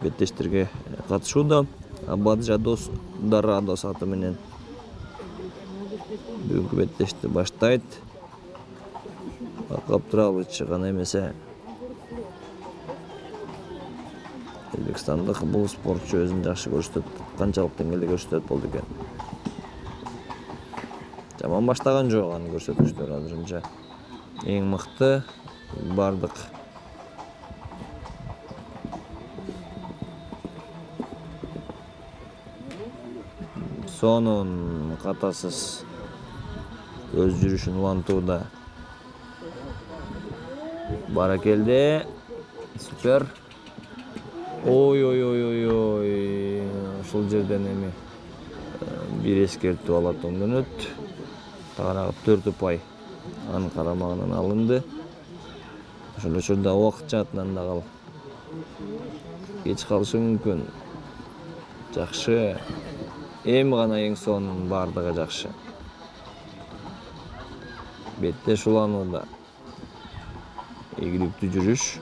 беттештерге катышууда. Абаджадос Дорадос аты менен бүгүнкү беттешти баштайт. Байкап туралычы гана эмесе. Өзбекстандык бул спортчу өзүн жакшы көрсөтөт. Канчалык деңгээлде көрсөтөт болду экен. Жаман баштаган жок аны көрсөтүштөр азырынча. Эң мыкты бардык. Сонун катасыз өз жүрүшүн улантууда. Баракелде. Супер. Ой. Ушул жерден эми бир эскертүү алат оңдонот. Тагыраагы 4 упай анын карамагынан алынды. Ошол учурда убакыт жаатынан дагы ал кеч калышы мүмкүн. Жакшы. Эми гана эң сонун бардыгы жакшы. Беттеш уланууда. Ийгиликтүү жүрүш.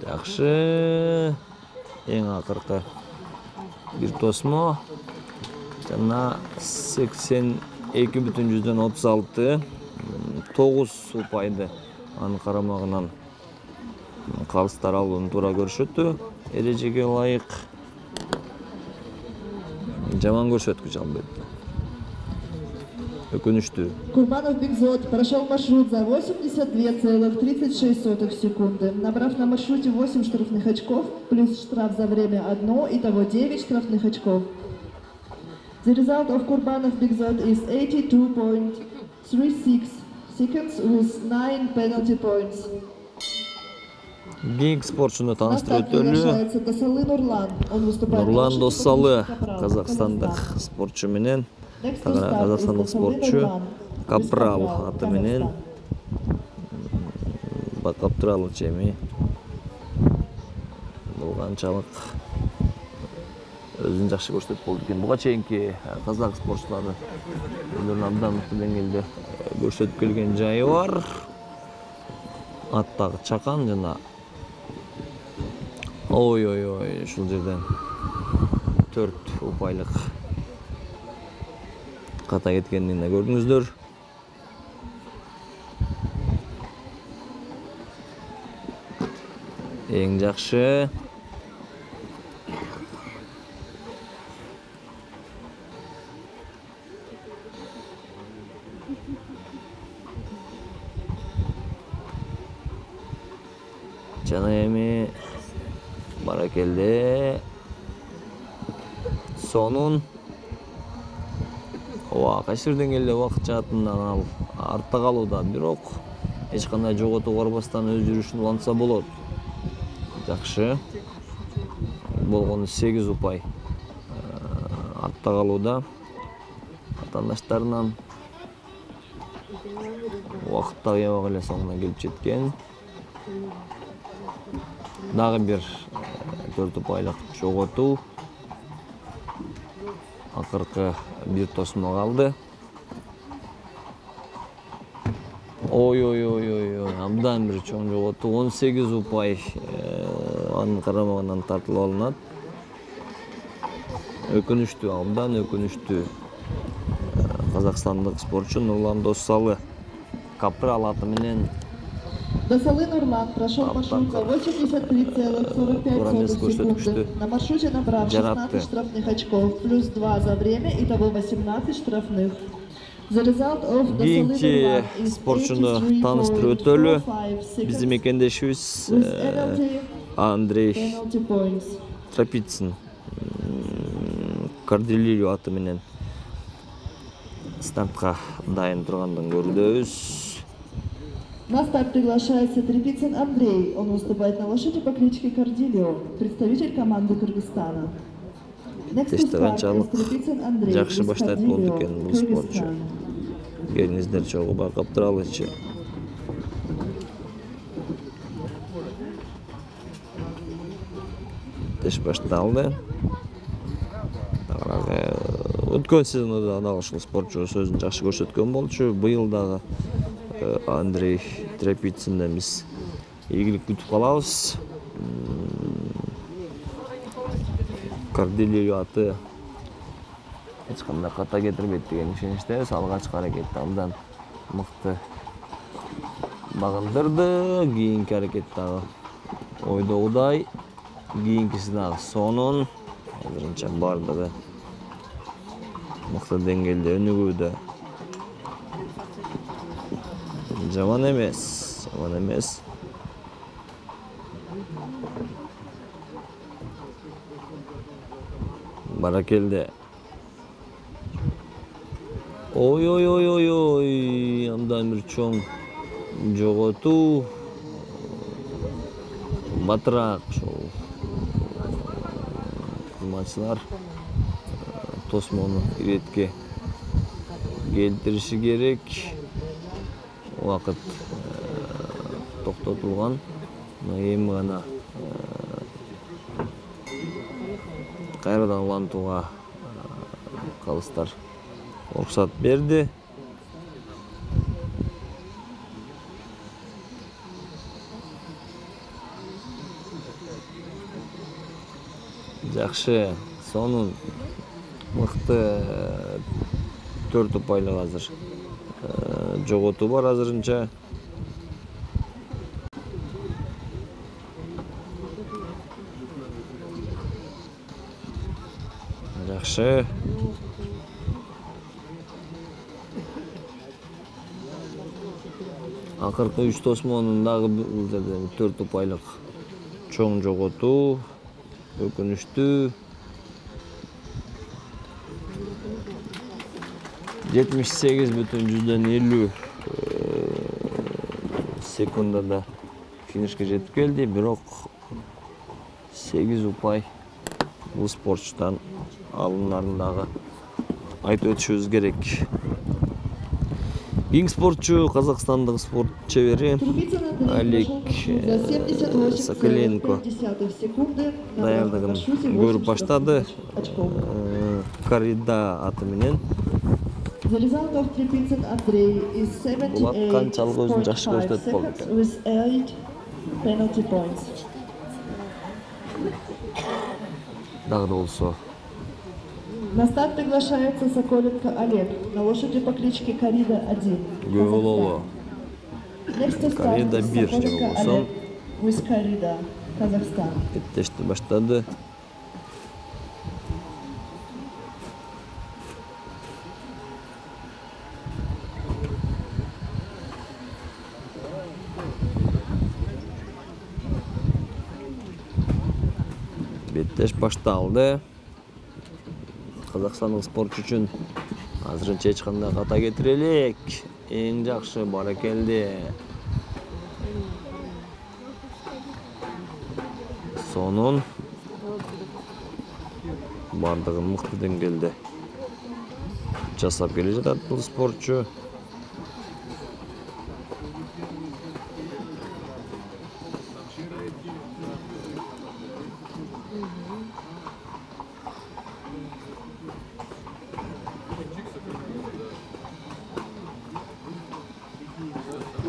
Жакшы. Эң акыркы бир тосмо жана 82,36 9 упайды анын карамагынан калыстар алууну туура көрүшөтү. Эрежеге ылайык. Жаман көрсөткүч албайт. Өкүнүштүү. Курбанов Бигзот прошел маршрут за 82,36 секунды, набрав на маршруте 8 штрафных очков, плюс штраф за время 1, итого 9 штрафных очков. The result of Kurbanov Bigzot is 82.36 seconds with 9 penalty points. Кийинки спортчуну На тааныштырып старт өтөлү. приглашается Досалы Нурлан. Он выступает на Нурлан лошади Досалы, Капрал, казакстандык Казахстан. спортчу менен, Next to start is казакстандык Досалы спортчу Нурлан, Капрал Казахстан. аты менен Капрал чеми. Бул канчалык өзүн жакшы көрсөтүп болду экен. Буга чейинки казак спортчулары өздөрүн абдан мыкты деңгээлде көрсөтүп келген жайы бар. Аттагы чакан жана ой ушул жерден 4 упайлык ката кеткенин да көрдүңүздөр. Эң жакшы жана эми баракелде сонун кайсы бир деңгээлде убакыт жаатынан ал артта калууда, бирок эч кандай жоготууга барбастан өз жүрүшүн улантса болот. Жакшы болгону 8 упай артта калууда. Атаандаштарынан убакыт дагы аябай эле соңуна келип жеткен. Дагы бир 4 упайлык жоготуу. Акыркы бир тосмо калды. Ой, абдан бир чоң жоготуу. 18 упай анын карамагынан тартылып алынат. Өкүнүштүү, абдан өкүнүштүү. Казакстандык спортчу Нурлан Досалы Капрал аты менен Досалы Нурлан прошел маршрут за 83,45 секунды. На маршруте набрав 16 штрафных очков, плюс 2 за время, итого 18 штрафных. The result of Досалы Нурлан is спортчуну тааныштырып өтөлү. Биздин мекендешибиз Андрей Тропицын Корделию аты менен стартка дайын тургандын көрүбүз. На старт приглашается Трепицын Андрей. Он выступает на лошади по кличке Корделио, представитель команды Кыргызстана. Next to start is Трепицын Андрей. Жакшы баштайт болду экен бул спортчу. Келиңиздер чогуу байкап туралычы. Теш башталды. Өткөн сезондо дагы ушул спортчу өзүн жакшы көрсөткөн болчу. Быйыл дагы Андрей Трепицынден биз ийгилик күтүп калабыз. Корделио аты эч кандай ката кетирбейт деген ишеничтебиз. Алгачкы аракетти абдан мыкты багындырды. Кийинки аракет дагы ойдогудай. Кийинкиси дагы сонун. Азырынча бардыгы мыкты деңгээлде өнүгүүдө. Жаман эмес. Баракелде. Ой, абдан бир чоң жоготуу. Батыраак ошол кызматчылар тосмону иретке келтириши керек. Убакыт токтотулган. Эми гана кайрадан улантууга калыстар уруксат берди. Жакшы, сонун мыкты 4 упайлык азыр жоготуу бар азырынча. Жакшы. Акыркы 3 тосмонун дагы бул жерде 4 упайлык чоң жоготуу. Өкүнүштүү. 78,50 секундада финишке жетип келди, бирок 8 упай бул спортчудан алынарын дагы айтып өтүшүбүз керек. Кийинки спортчу казакстандык спорт чебери Олег Соколенко даярдыгын көрүп баштады. Коррида аты менен. Залезалков Трепицын Андрей is 78.45 seconds with 8 penalty points. Дагы да болсо. На старт приглашается Соколенко Олег на лошади по кличке Коррида 1. Көп болобу. Next to start Коррида 1 же Соколенко болсо. Олег with Коррида, Казахстан. Беттешти баштады. Беттеш башталды. Казакстандык спортчу үчүн азырынча эч кандай ката кетире элек. Эң жакшы баракелди. Сонун бардыгын мыкты деңгээлде жасап келе жатат бул спортчу.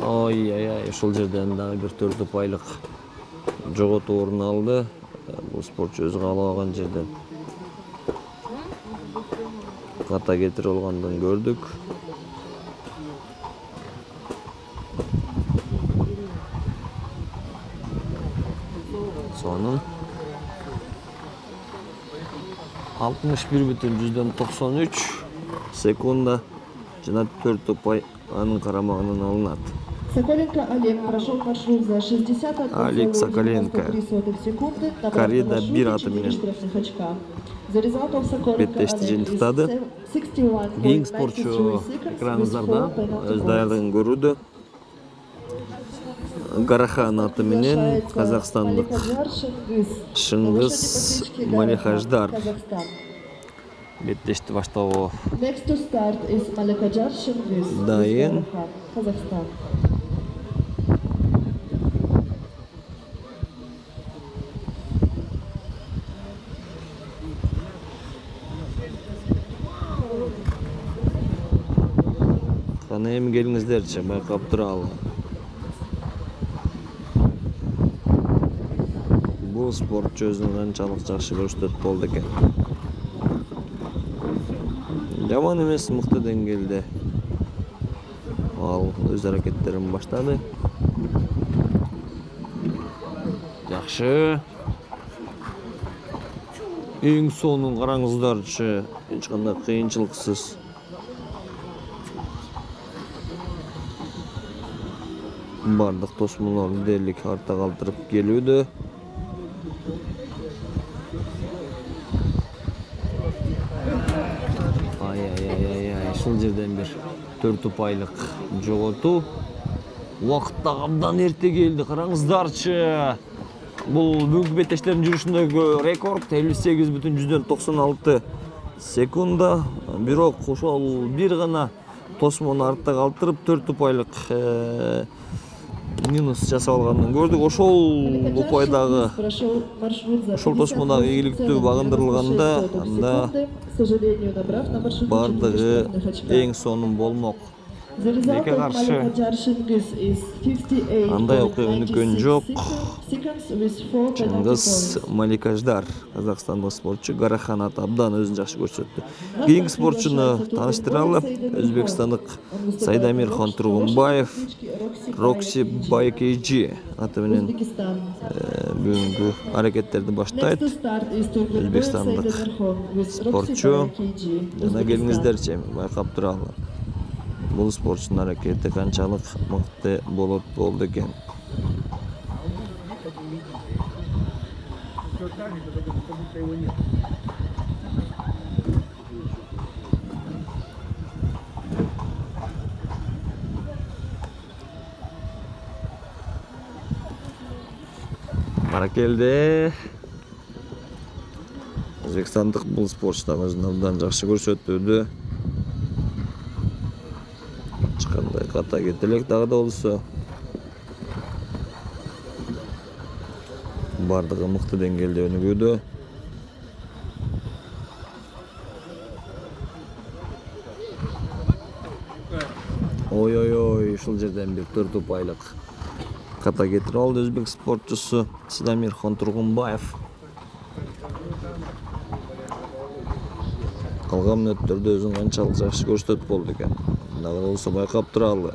Ой, ушул жерден дагы бир 4 упайлык жоготуу орун алды. Бул спортчу өзү каалабаган жерден ката кетирип алгандын көрдүк. Сонун 61,93 секунда жана 4 упай анын карамагынан алынат. Соколенко Олег прошел маршрут за 61,93 секунды. Коррида 1 аты менен Залезалков Соколенко беттешти Олег жыйынтыктады. Кийинки спортчу экраныңыздарда өз даярдыгын көрүүдө. Гарахан аты менен казакстандык Шыңгыз Малихаждар беттешти баштабы Next to start is Малихаждар Шыңгыз, дайын. Казахстан. Кана эми келиңиздерчи, байкап туралы. Бул спортчу өзүн канчалык жакшы көрсөтөт болду экен. Жаман эмес, мыкты деңгээлде ал өз аракеттерин баштады. Жакшы. Эң сонун караңыздарчы, эч кандай кыйынчылыксыз бардык тосмолорду дээрлик артта калтырып келүүдө. Ушул жерден бир 4 упайлык жоготуу. Убакыт дагы абдан эрте келди, караңыздарчы. Бул бүгүнкү беттештердин жүрүшүндөгү рекорд 58,96 секунда. Бирок ошол бир гана тосмону артта калтырып 4 упайлык минус жасап алганын көрдүк. Ошол упайдагы ошол тосмодагы ийгиликтүү багындырылганда анда бардыгы эң сонун болмок. Эке каршы андай окуя өнүккөн жок. Шыңгыз Малихаждар казакстандык спортчу Гарахан аты абдан өзүн жакшы көрсөттү. Кийинки спортчуну тааныштыралы. Өзбекстандык Сайдамирхон Тургунбаев Рокси Байкейджи аты менен бүгүнкү аракеттерди баштайт. Өзбекстандык спортчу. Жана келиңиздерчи, байкап туралы. бул спортчунун аракети канчалык мыкты болду экен. Баракелде. Өзбекстандык бул спортчу өзүн абдан жакшы көрсөтүүдө. Ачкандай ката кетелек дагы да болсо. Бардыгы мыкты деңгээлде өнүгүүдө. Ой, ушул жерден бир 4 упайлык ката кетирип алды өзбек спортчусу Сидамирхон Тургунбаев. Калган мүнөттөрдө өзүн канчалык жакшы көрсөтүп болду экен. Дагы болсо байкап туралы.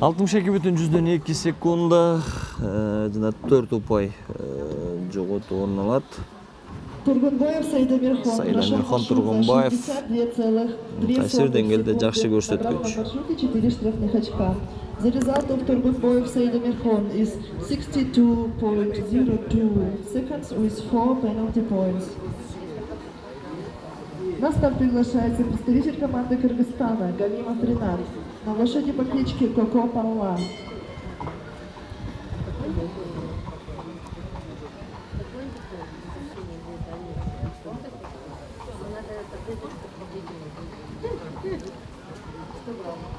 Алтымыш 62,2 секунда жана 4 упай жоготуп орун алат. Тургунбаев Сайдамирхон Тургунбаев кайсы деңгээлде жакшы көрсөткүч. 4 штрафных очка. The result of Turgunboyev Saydamirkhon is 62.02 seconds with 4 penalty points. На старт приглашается представитель команды Кыргызстана Галимов Ринат на лошади по кличке Коко Палла.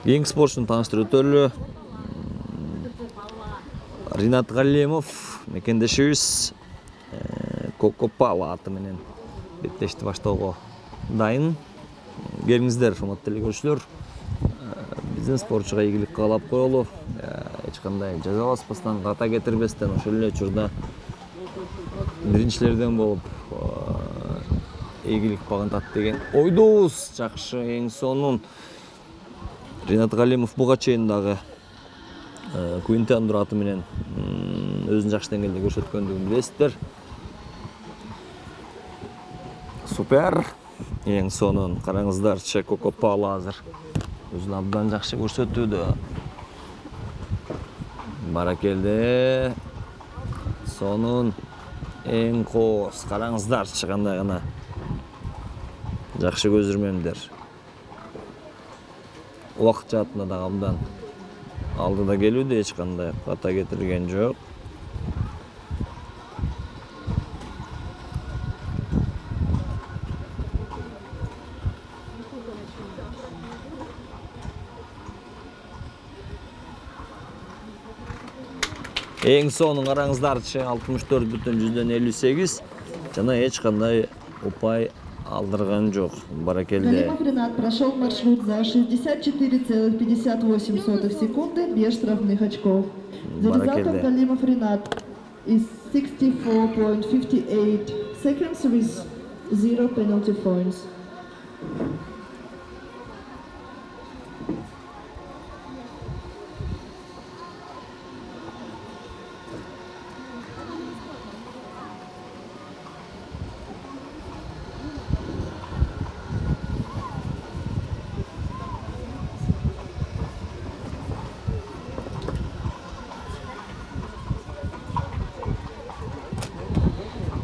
Кийинки спортчуну тааныштырып өтөлү. Ринат Галимов мекендешибиз Коко Палла аты менен беттешти баштоого дайын. Келиңиздер, урматтуу телекөрүүчүлөр. Биздин спортчуга ийгилик каалап коелу. Эч кандай жазаласпастан, ката кетирбестен ошол эле учурда биринчилерден болуп ийгилик багынтат деген ойдобуз. Жакшы, эң сонун Ринат Галимов буга чейин дагы Квинтандур аты менен өзүн жакшы деңгээлде көрсөткөндүгүн билесиздер. Супер. Эң сонун караңыздарчы Коко Палла азыр өзүн абдан жакшы көрсөтүүдө. Баракелде. Сонун эң кооз караңыздарчы кандай гана жакшы көзүрмөмдер. Убакыт жаатында дагы абдан алдыда келүүдө, эч кандай ката кетирген жок. Эң сонун караңыздарчы 64,58 жана эч кандай упай алдырган жок. Баракелде. Галимов Ринат прошел маршрут за 64,58 секунды без штрафных очков. За результатом Галимов Ринат is 64.58 seconds with 0 penalty points.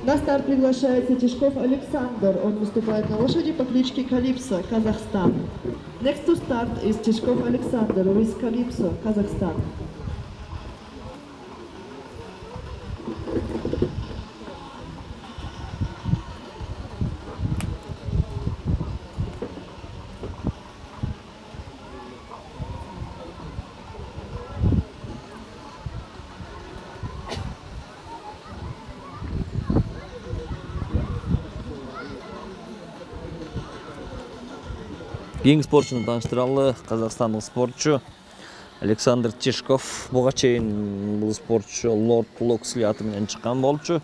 На старт приглашается Тишков Александр. Он выступает на лошади по кличке Калипсо, Казахстан. Next to start is Тишков Alexander with Calypso, Kazakhstan. Кийинки спортчуну тааныштыралы. Казакстандык спортчу Александр Тишков. Буга чейин бул спортчу Лорд Локсли аты менен чыккан болчу.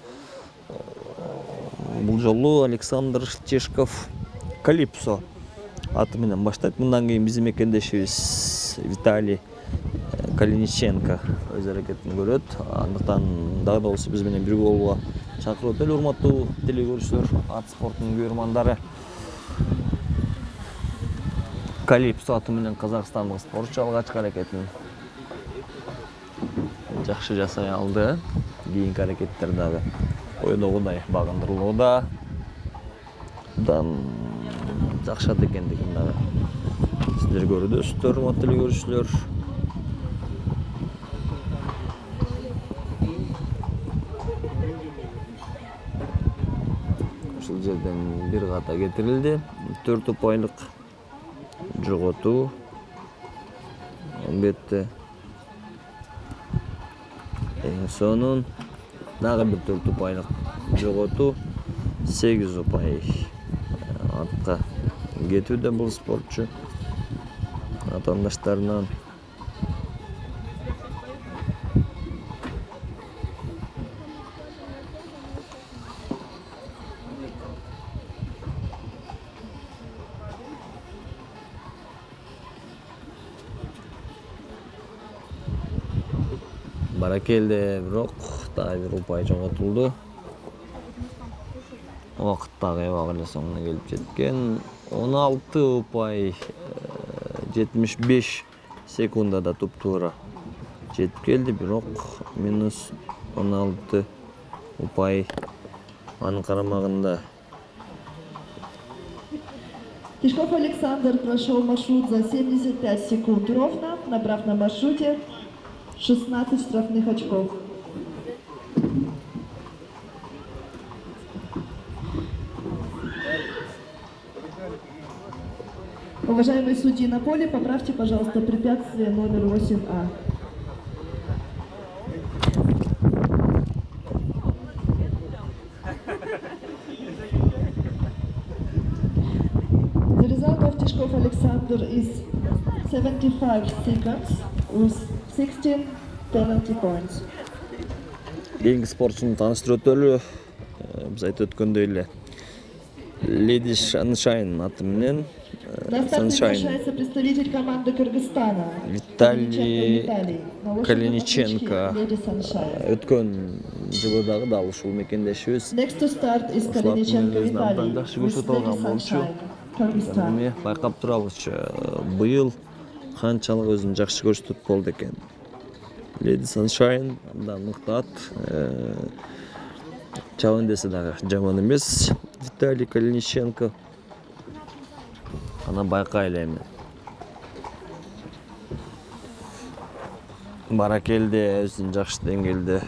Бул жолу Александр Чешков Калипсо аты менен баштайт. Мындан кийин биздин мекендешибиз Виталий Калиниченко өз аракетин көрөт. Андыктан дагы да болсо биз менен бирге болууга чакырып өтөлү, урматтуу телекөрүүчүлөр, ат спортунун көрөрмандары. Калипсо аты менен казакстандык спортчу алгачкы аракетин жакшы жасай алды. Кийинки аракеттер дагы ойдогудай багындырылууда. Дан жакшат экендигин дагы сиздер көрүдөсүздөр, урматтуу телекөрүүчүлөр. Ушул жерден бир ката кетирилди. 4 упайлык жоготуу. Албетте эң сонун дагы бир 4 упайлык жоготуу. 8 упай артка кетүүдө бул спортчу атаандаштарынан. Баракелде бирок дагы бир упай жоготулду. Убакыт дагы аябай эле соңуна келип жеткен. 16 упай 75 секундада туп-туура жетип келди, бирок минус 16 упай анын карамагында. Тишков Александр прошел маршрут за 75 секунд ровно, набрав на маршруте 16 штрафных очков. Уважаемые судьи на поле, поправьте, пожалуйста, препятствие номер 8А. The result of Tishkov Alexander is 75 seconds with 16 penalty points. Кийинки спортчуну тааныштырып өтөлү. Биз айтып өткөндөй эле Lady Sunshine аты менен На старт приглашается представитель команды Кыргызстана Виталий Калиниченко. Өткөн жылы дагы да ушул мекендешибиз. Next to start is Kalinichenko Vitaly with Lady Sunshine, Kyrgyzstan. Эми байкап турабызчы, быйыл канчалык өзүн жакшы көрсөтүп болду экен. Lady Sunshine да мыктат. Чабан десе дагы жаман эмес. Виталий Калиниченко аны байкайлы эми. Баракелде өзүн жакшы деңгээлде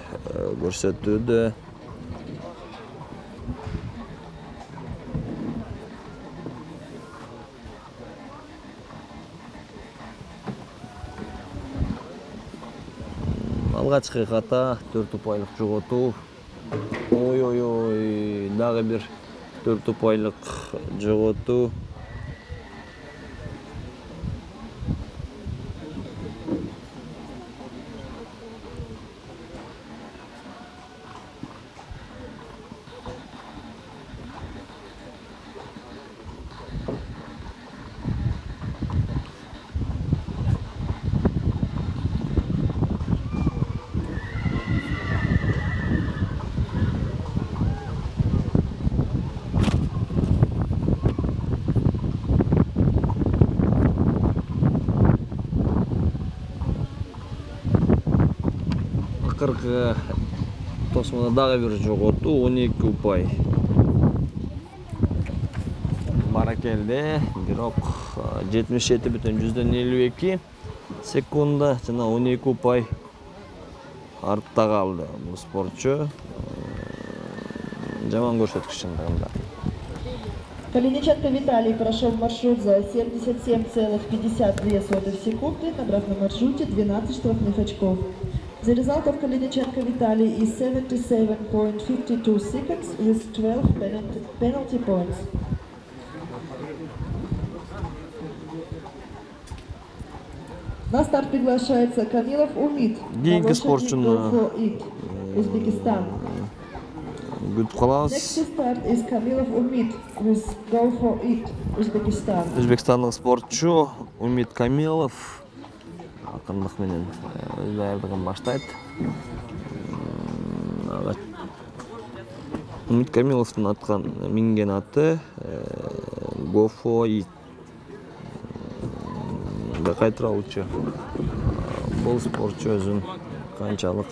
көрсөтүүдө. Алгачкы ката 4 упайлык жоготуу. Ой, дагы бир 4 упайлык жоготуу. Акыркы тосмода дагы бир жоготуу, 12 упай. Баракелде, бирок 77,52 секунда жана 12 упай артта калды бул спортчу. Жаман көрсөткүч чындыгында. Калиниченко Виталий прошел маршрут за 77,52 секунды, набрав на маршруте 12 штрафных очков. The result of Kalinichenko Vitaly is 77.52 seconds with 12 penalty points. На старт приглашается Камилов Умид, Кийинки спортчуну Узбекистан. Күтүп Next калабыз. to start is Kamilov Umid with Go for It, Uzbekistan. Өзбекстандык спортчу Умид Камилов акырындык менен өз даярдыгын баштайт. Умид Камиловдун аткан минген аты Go for It. Кайтыралчу. Бул спортчу өзүн канчалык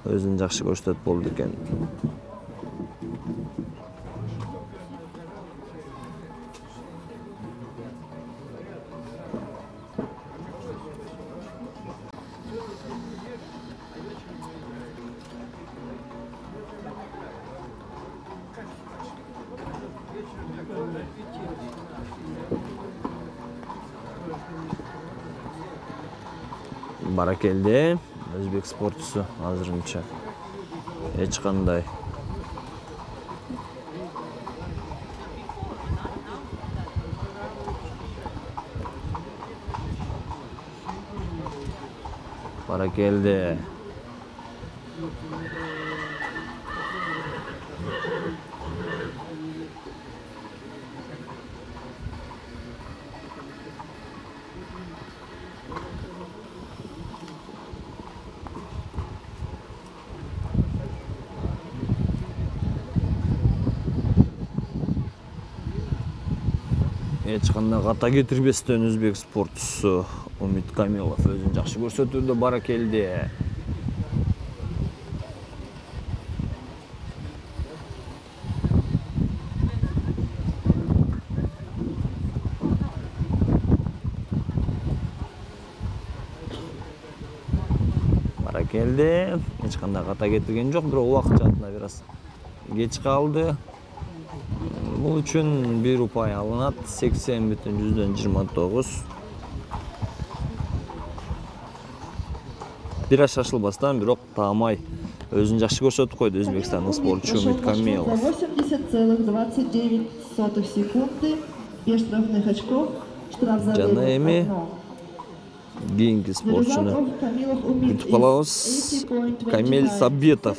өзүн жакшы көрсөтөт болду экен. Баракелде өзбек спортчусу азырынча эч кандай баракелде эч кандай ката кетирбестен өзбек спортчусу Умид Камилов өзүн жакшы көрсөтүүдө баракелде. Баракелде эч кандай ката кетирген жок, бирок убакыт жаатына бир аз кеч калды. Бул үчүн 1 упай алынат, 80,29. Бир аз шашылбастан, бирок таамай өзүн жакшы көрсөтүп койду өзбекстандык спортчу Умид Камилов. 80,29 секунды, 5 штрафных очков, штраф за Жана время эми 1. кийинки спортчуну күтүп калабыз. Камил Сабитов.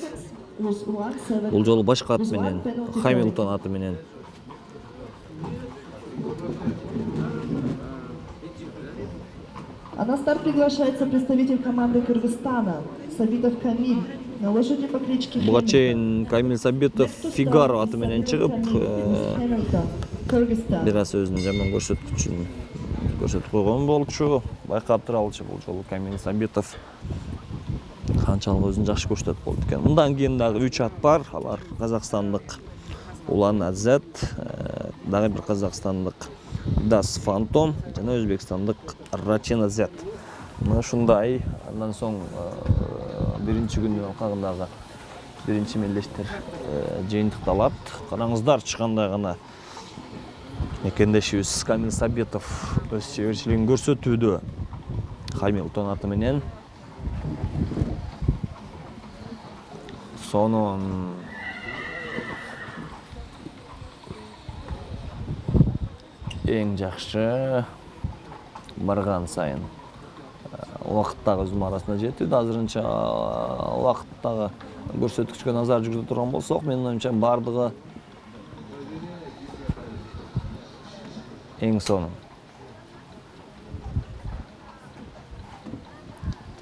Бул жолу башка ат менен, Хамилтон аты менен. А на старт приглашается представитель команды Кыргызстана Сабитов Камиль на лошади по кличке Буга Хэмилтон. чейин Камил Сабитов Фигаро аты менен чыгып, бир аз өзүнүн жаман көрсөткүчүн көрсөтүп койгон болчу. Байкап туралычы бул жолу Камил Сабитов канчалык өзүн жакшы көрсөтүп болду экен. Мындан кийин дагы 3 ат бар. Алар казакстандык Улан Азат, дагы бир казакстандык Das Phantom жана өзбекстандык Rachin Z. Мына ушундай. Андан соң биринчи күнү алкагындагы биринчи мелдештер жыйынтыкталат. Караңыздар, чыккандай гана мекендешибиз Камил Сабитов өз чеберчилигин көрсөтүүдө. Хамилтон аты менен. Сонун эң жакшы барган сайын убакыттагы өзүм арасында жетүүдө. Азырынча убакыттагы көрсөткүчкө назар жүргүзө турган болсок, менин оюмча бардыгы эң сонун.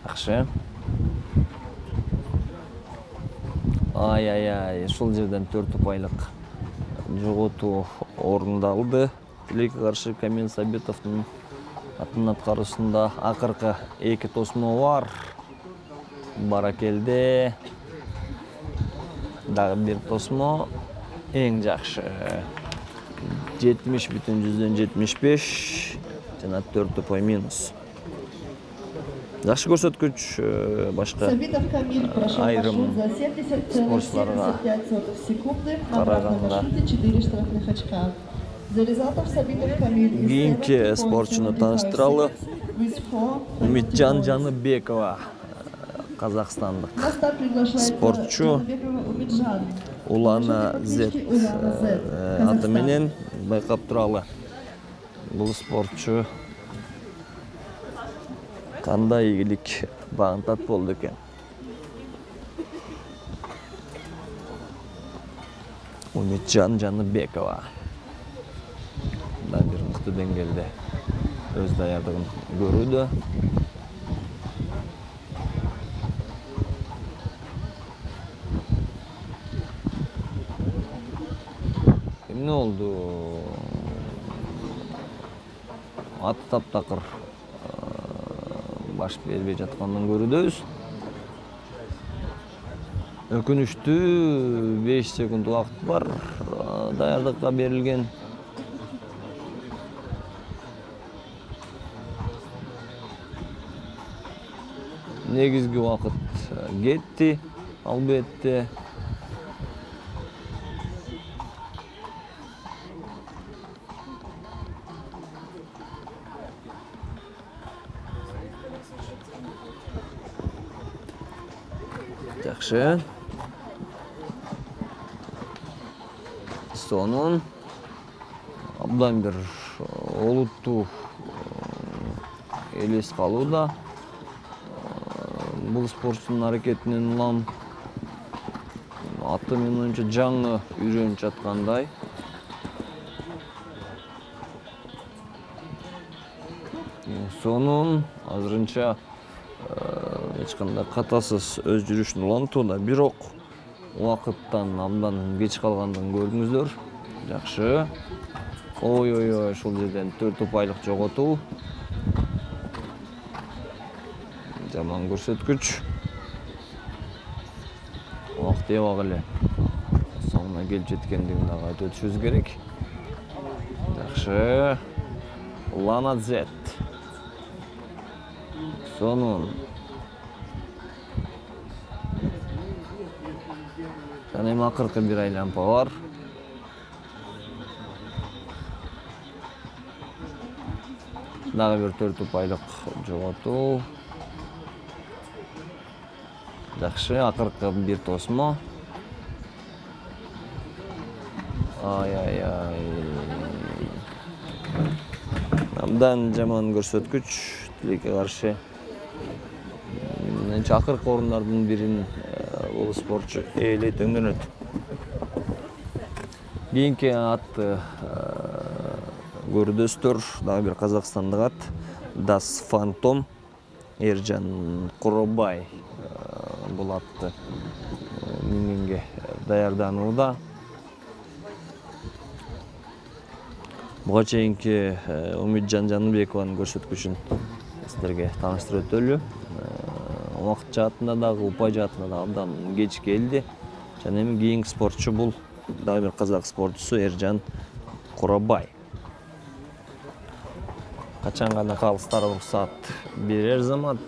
Жакшы. Ай, ушул жерден 4 упайлык жоготуу орундалды. Тилекке каршы Камил Сабитовдун аттын аткаруусунда акыркы 2 тосмо бар. Баракелде дагы 1 тосмо. Эң жакшы 70,75 жана 4 упай минус. Жакшы көрсөткүч башка Сабитов Камиль прошел айрым маршрут за 70,75 секунды, набрав на маршруте 4 штрафных очка. За результатом Сабитов Камиль кийинки спортчуну тааныштыралы. Умитжан Жаныбекова, казакстандык спортчу. Улана Z аты менен байкап туралы. Бул спортчу кандай ийгилик багынтат болду экен. Умитжан Жаныбекова. Мындай бир мыкты деңгээлде өз даярдыгын көрүүдө. Эмне болду? Аты таптакыр баш бербей жатканын көрүүдөбүз. Өкүнүчтүү 5 секунд убакыт бар. Даярдыкка берилген. Негизги убакыт кетти, албетте. Жакшы. Сонун абдан бир олуттуу элес калууда. Бул спортчунун аракетинен улам аты менин оюнча жаңы үйрөнүп жаткандай. Сонун азырынча эч кандай катасыз өз жүрүшүн улантууда, бирок убакыттан абдан кеч калгандыгын көрдүңүздөр. Жакшы. Ой, ушул жерден 4 упайлык жоготуу. Жаман көрсөткүч. Убакыт эбак эле соңуна келип жеткендигин дагы айтып өтүшүбүз керек. Жакшы. Лана Z. Сонун. Жана эми акыркы бир айланпа бар. Дагы бир 4 упайлык жоготуу. Жакшы, акыркы бир тосмо. Ай. Абдан жаман көрсөткүч тилекке каршы. Менимче акыркы орундардын бирин бул спортчу ээлейт өңдөнөт. Кийинки атты көрдөстөр, дагы бир казакстандык ат. Das Phantom Эржан Куробай бул атты мингенге даярданууда. Буга чейинки Умитжан Жаныбекованын көрсөткүчүн сиздерге тааныштырып өтөлү. Убакыт жаатында дагы, упай жаатында дагы абдан кеч келди. Жана эми кийинки спортчу бул дагы бир казак спортчусу Эржан Куробай. Качан гана калыстар уруксат берер замат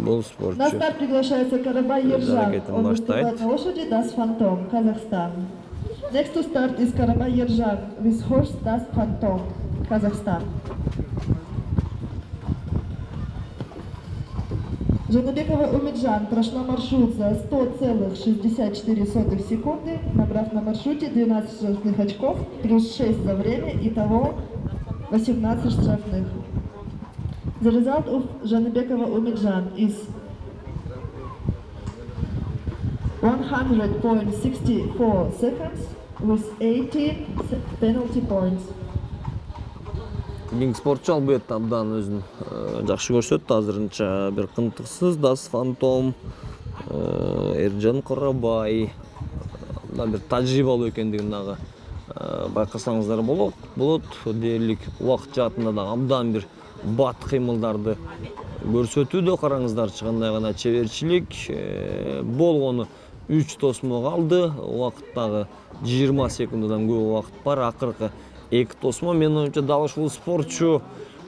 бул спортчу. На старт приглашается Карабай Ержан. Он выступает на лошади Das Phantom, Казахстан. Next to start is Карабай Ержан with horse Das Phantom, Казахстан. Жаныбекова Умитжан прошла маршрут за 100,64 секунды, набрав на маршруте 12 штрафных очков, плюс 6 за время, итого 18 штрафных. The result of Жаныбекова Умитжан is 100.64 seconds with 18 penalty points. Кийинки спортчу албетте абдан өзүн жакшы көрсөттү. Азырынча бир кынтыксыз Das Phantom Эржан Куробай абдан бир тажрыйбалуу экендигин дагы байкасаңыздар болот. Дээрлик убакыт жаатында дагы абдан бир бат кыймылдарды көрсөтүүдө. Караңыздарчы кандай гана чеберчилик. Болгону 3 тосмо калды. Убакыттагы 20 секунддан көп убакыт бар. Акыркы 2 тосмо. Менин оюмча дал ушул спортчу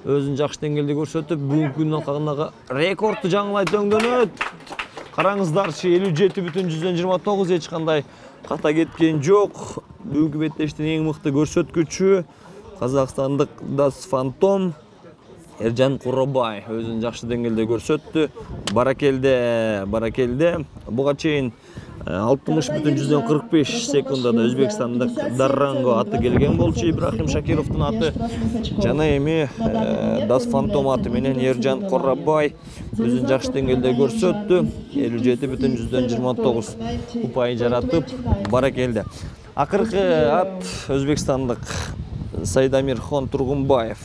өзүн жакшы деңгээлде көрсөтүп, бүгүнкү күндөн калгандагы рекордду жаңылайт өңдөнөт. Караңыздарчы 57,29 эч кандай ката кеткен жок. Бүгүнкү беттештин эң мыкты көрсөткүчү казакстандык Das Phantom Эржан Куробай өзүн жакшы деңгээлде көрсөттү. Баракелде. Буга чейин 60,45 секундада өзбекстандык Дарранго аты келген болчу, Ибрахим Шакировдун аты. Жана эми Das Phantom аты менен Эржан Куробай өзүн жакшы деңгээлде көрсөттү. 57,29 упай жаратып, баракелде. Акыркы ат өзбекстандык Сайдамирхон Тургунбаев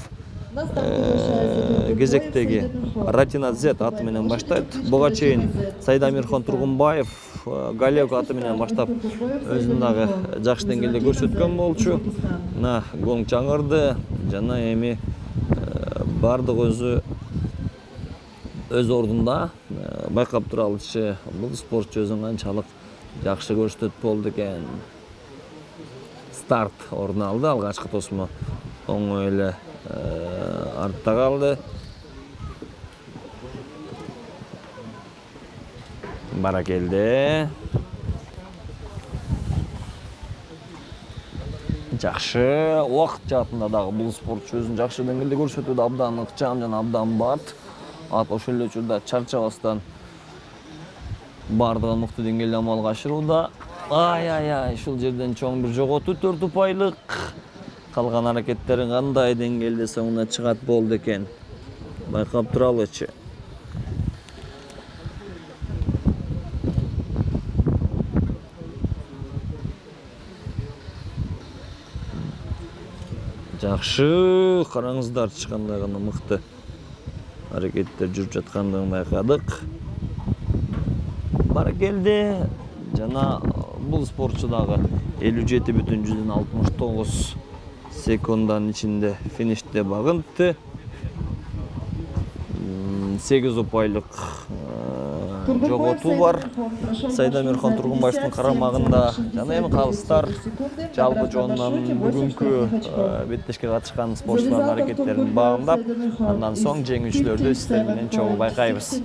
кезектеги Ратина Z аты менен баштайт. Буга чейин Сайдамирхон Тургунбаев Галек аты менен баштап өзүн дагы жакшы деңгээлде көрсөткөн болчу. Мына гонг жаңырды жана эми бардык өз ордунда байкап туралычы. Бул спортчу өзүн канчалык жакшы көрсөтөт болду экен. Старт орун алды, алгачкы тосмо оңой эле артта калды. Баракелде. Жакшы убакыт жаатында дагы бул спортчу өзүн жакшы деңгээлде көрсөтүүдө абдан ыкчам жана абдан бат. Ат ошол эле учурда чарчабастан бардыгын мыкты деңгээлде амалга ашырууда. Ай, ушул жерден чоң бир жоготуу 4 упайлык. Калган аракеттери кандай деңгээлде соңуна чыгат болду экен. Байкап туралычы. Жакшы, караңыздарчы кандай гана мыкты аракеттер жүрүп жаткандыгын байкадык. Баракелде жана бул спортчу дагы 57,69 секунддун ичинде финиште багынтты. 8 упайлык жоготуу бар Сайдамирхон Тургунбаевдин карамагында. Жана эми калыстар жалпы жонунан бүгүнкү беттешке катышкан спортчулардын аракеттерин баамдап, андан соң жеңүүчүлөрдү сиздер менен чогуу байкайбыз.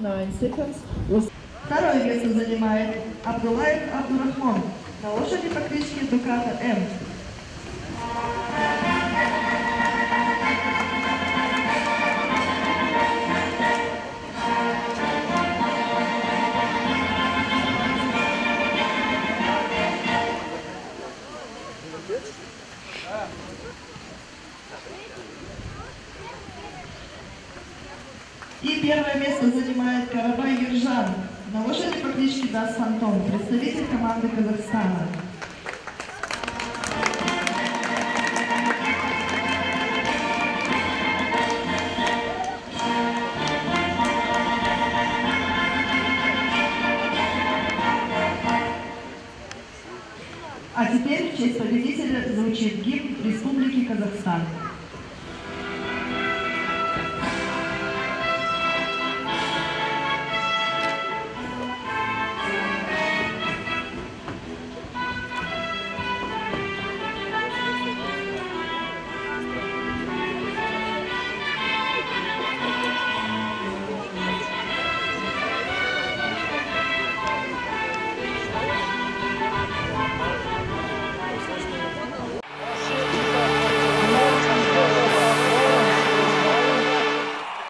Второе место занимает Абдулаев Абдурахман на лошади по кличке Дуката М. И первое место занимает Карабай Ержан на лошади по кличке Дас Фантом, представитель команды Казахстана. А теперь в честь победителя звучит гимн Республики Казахстан.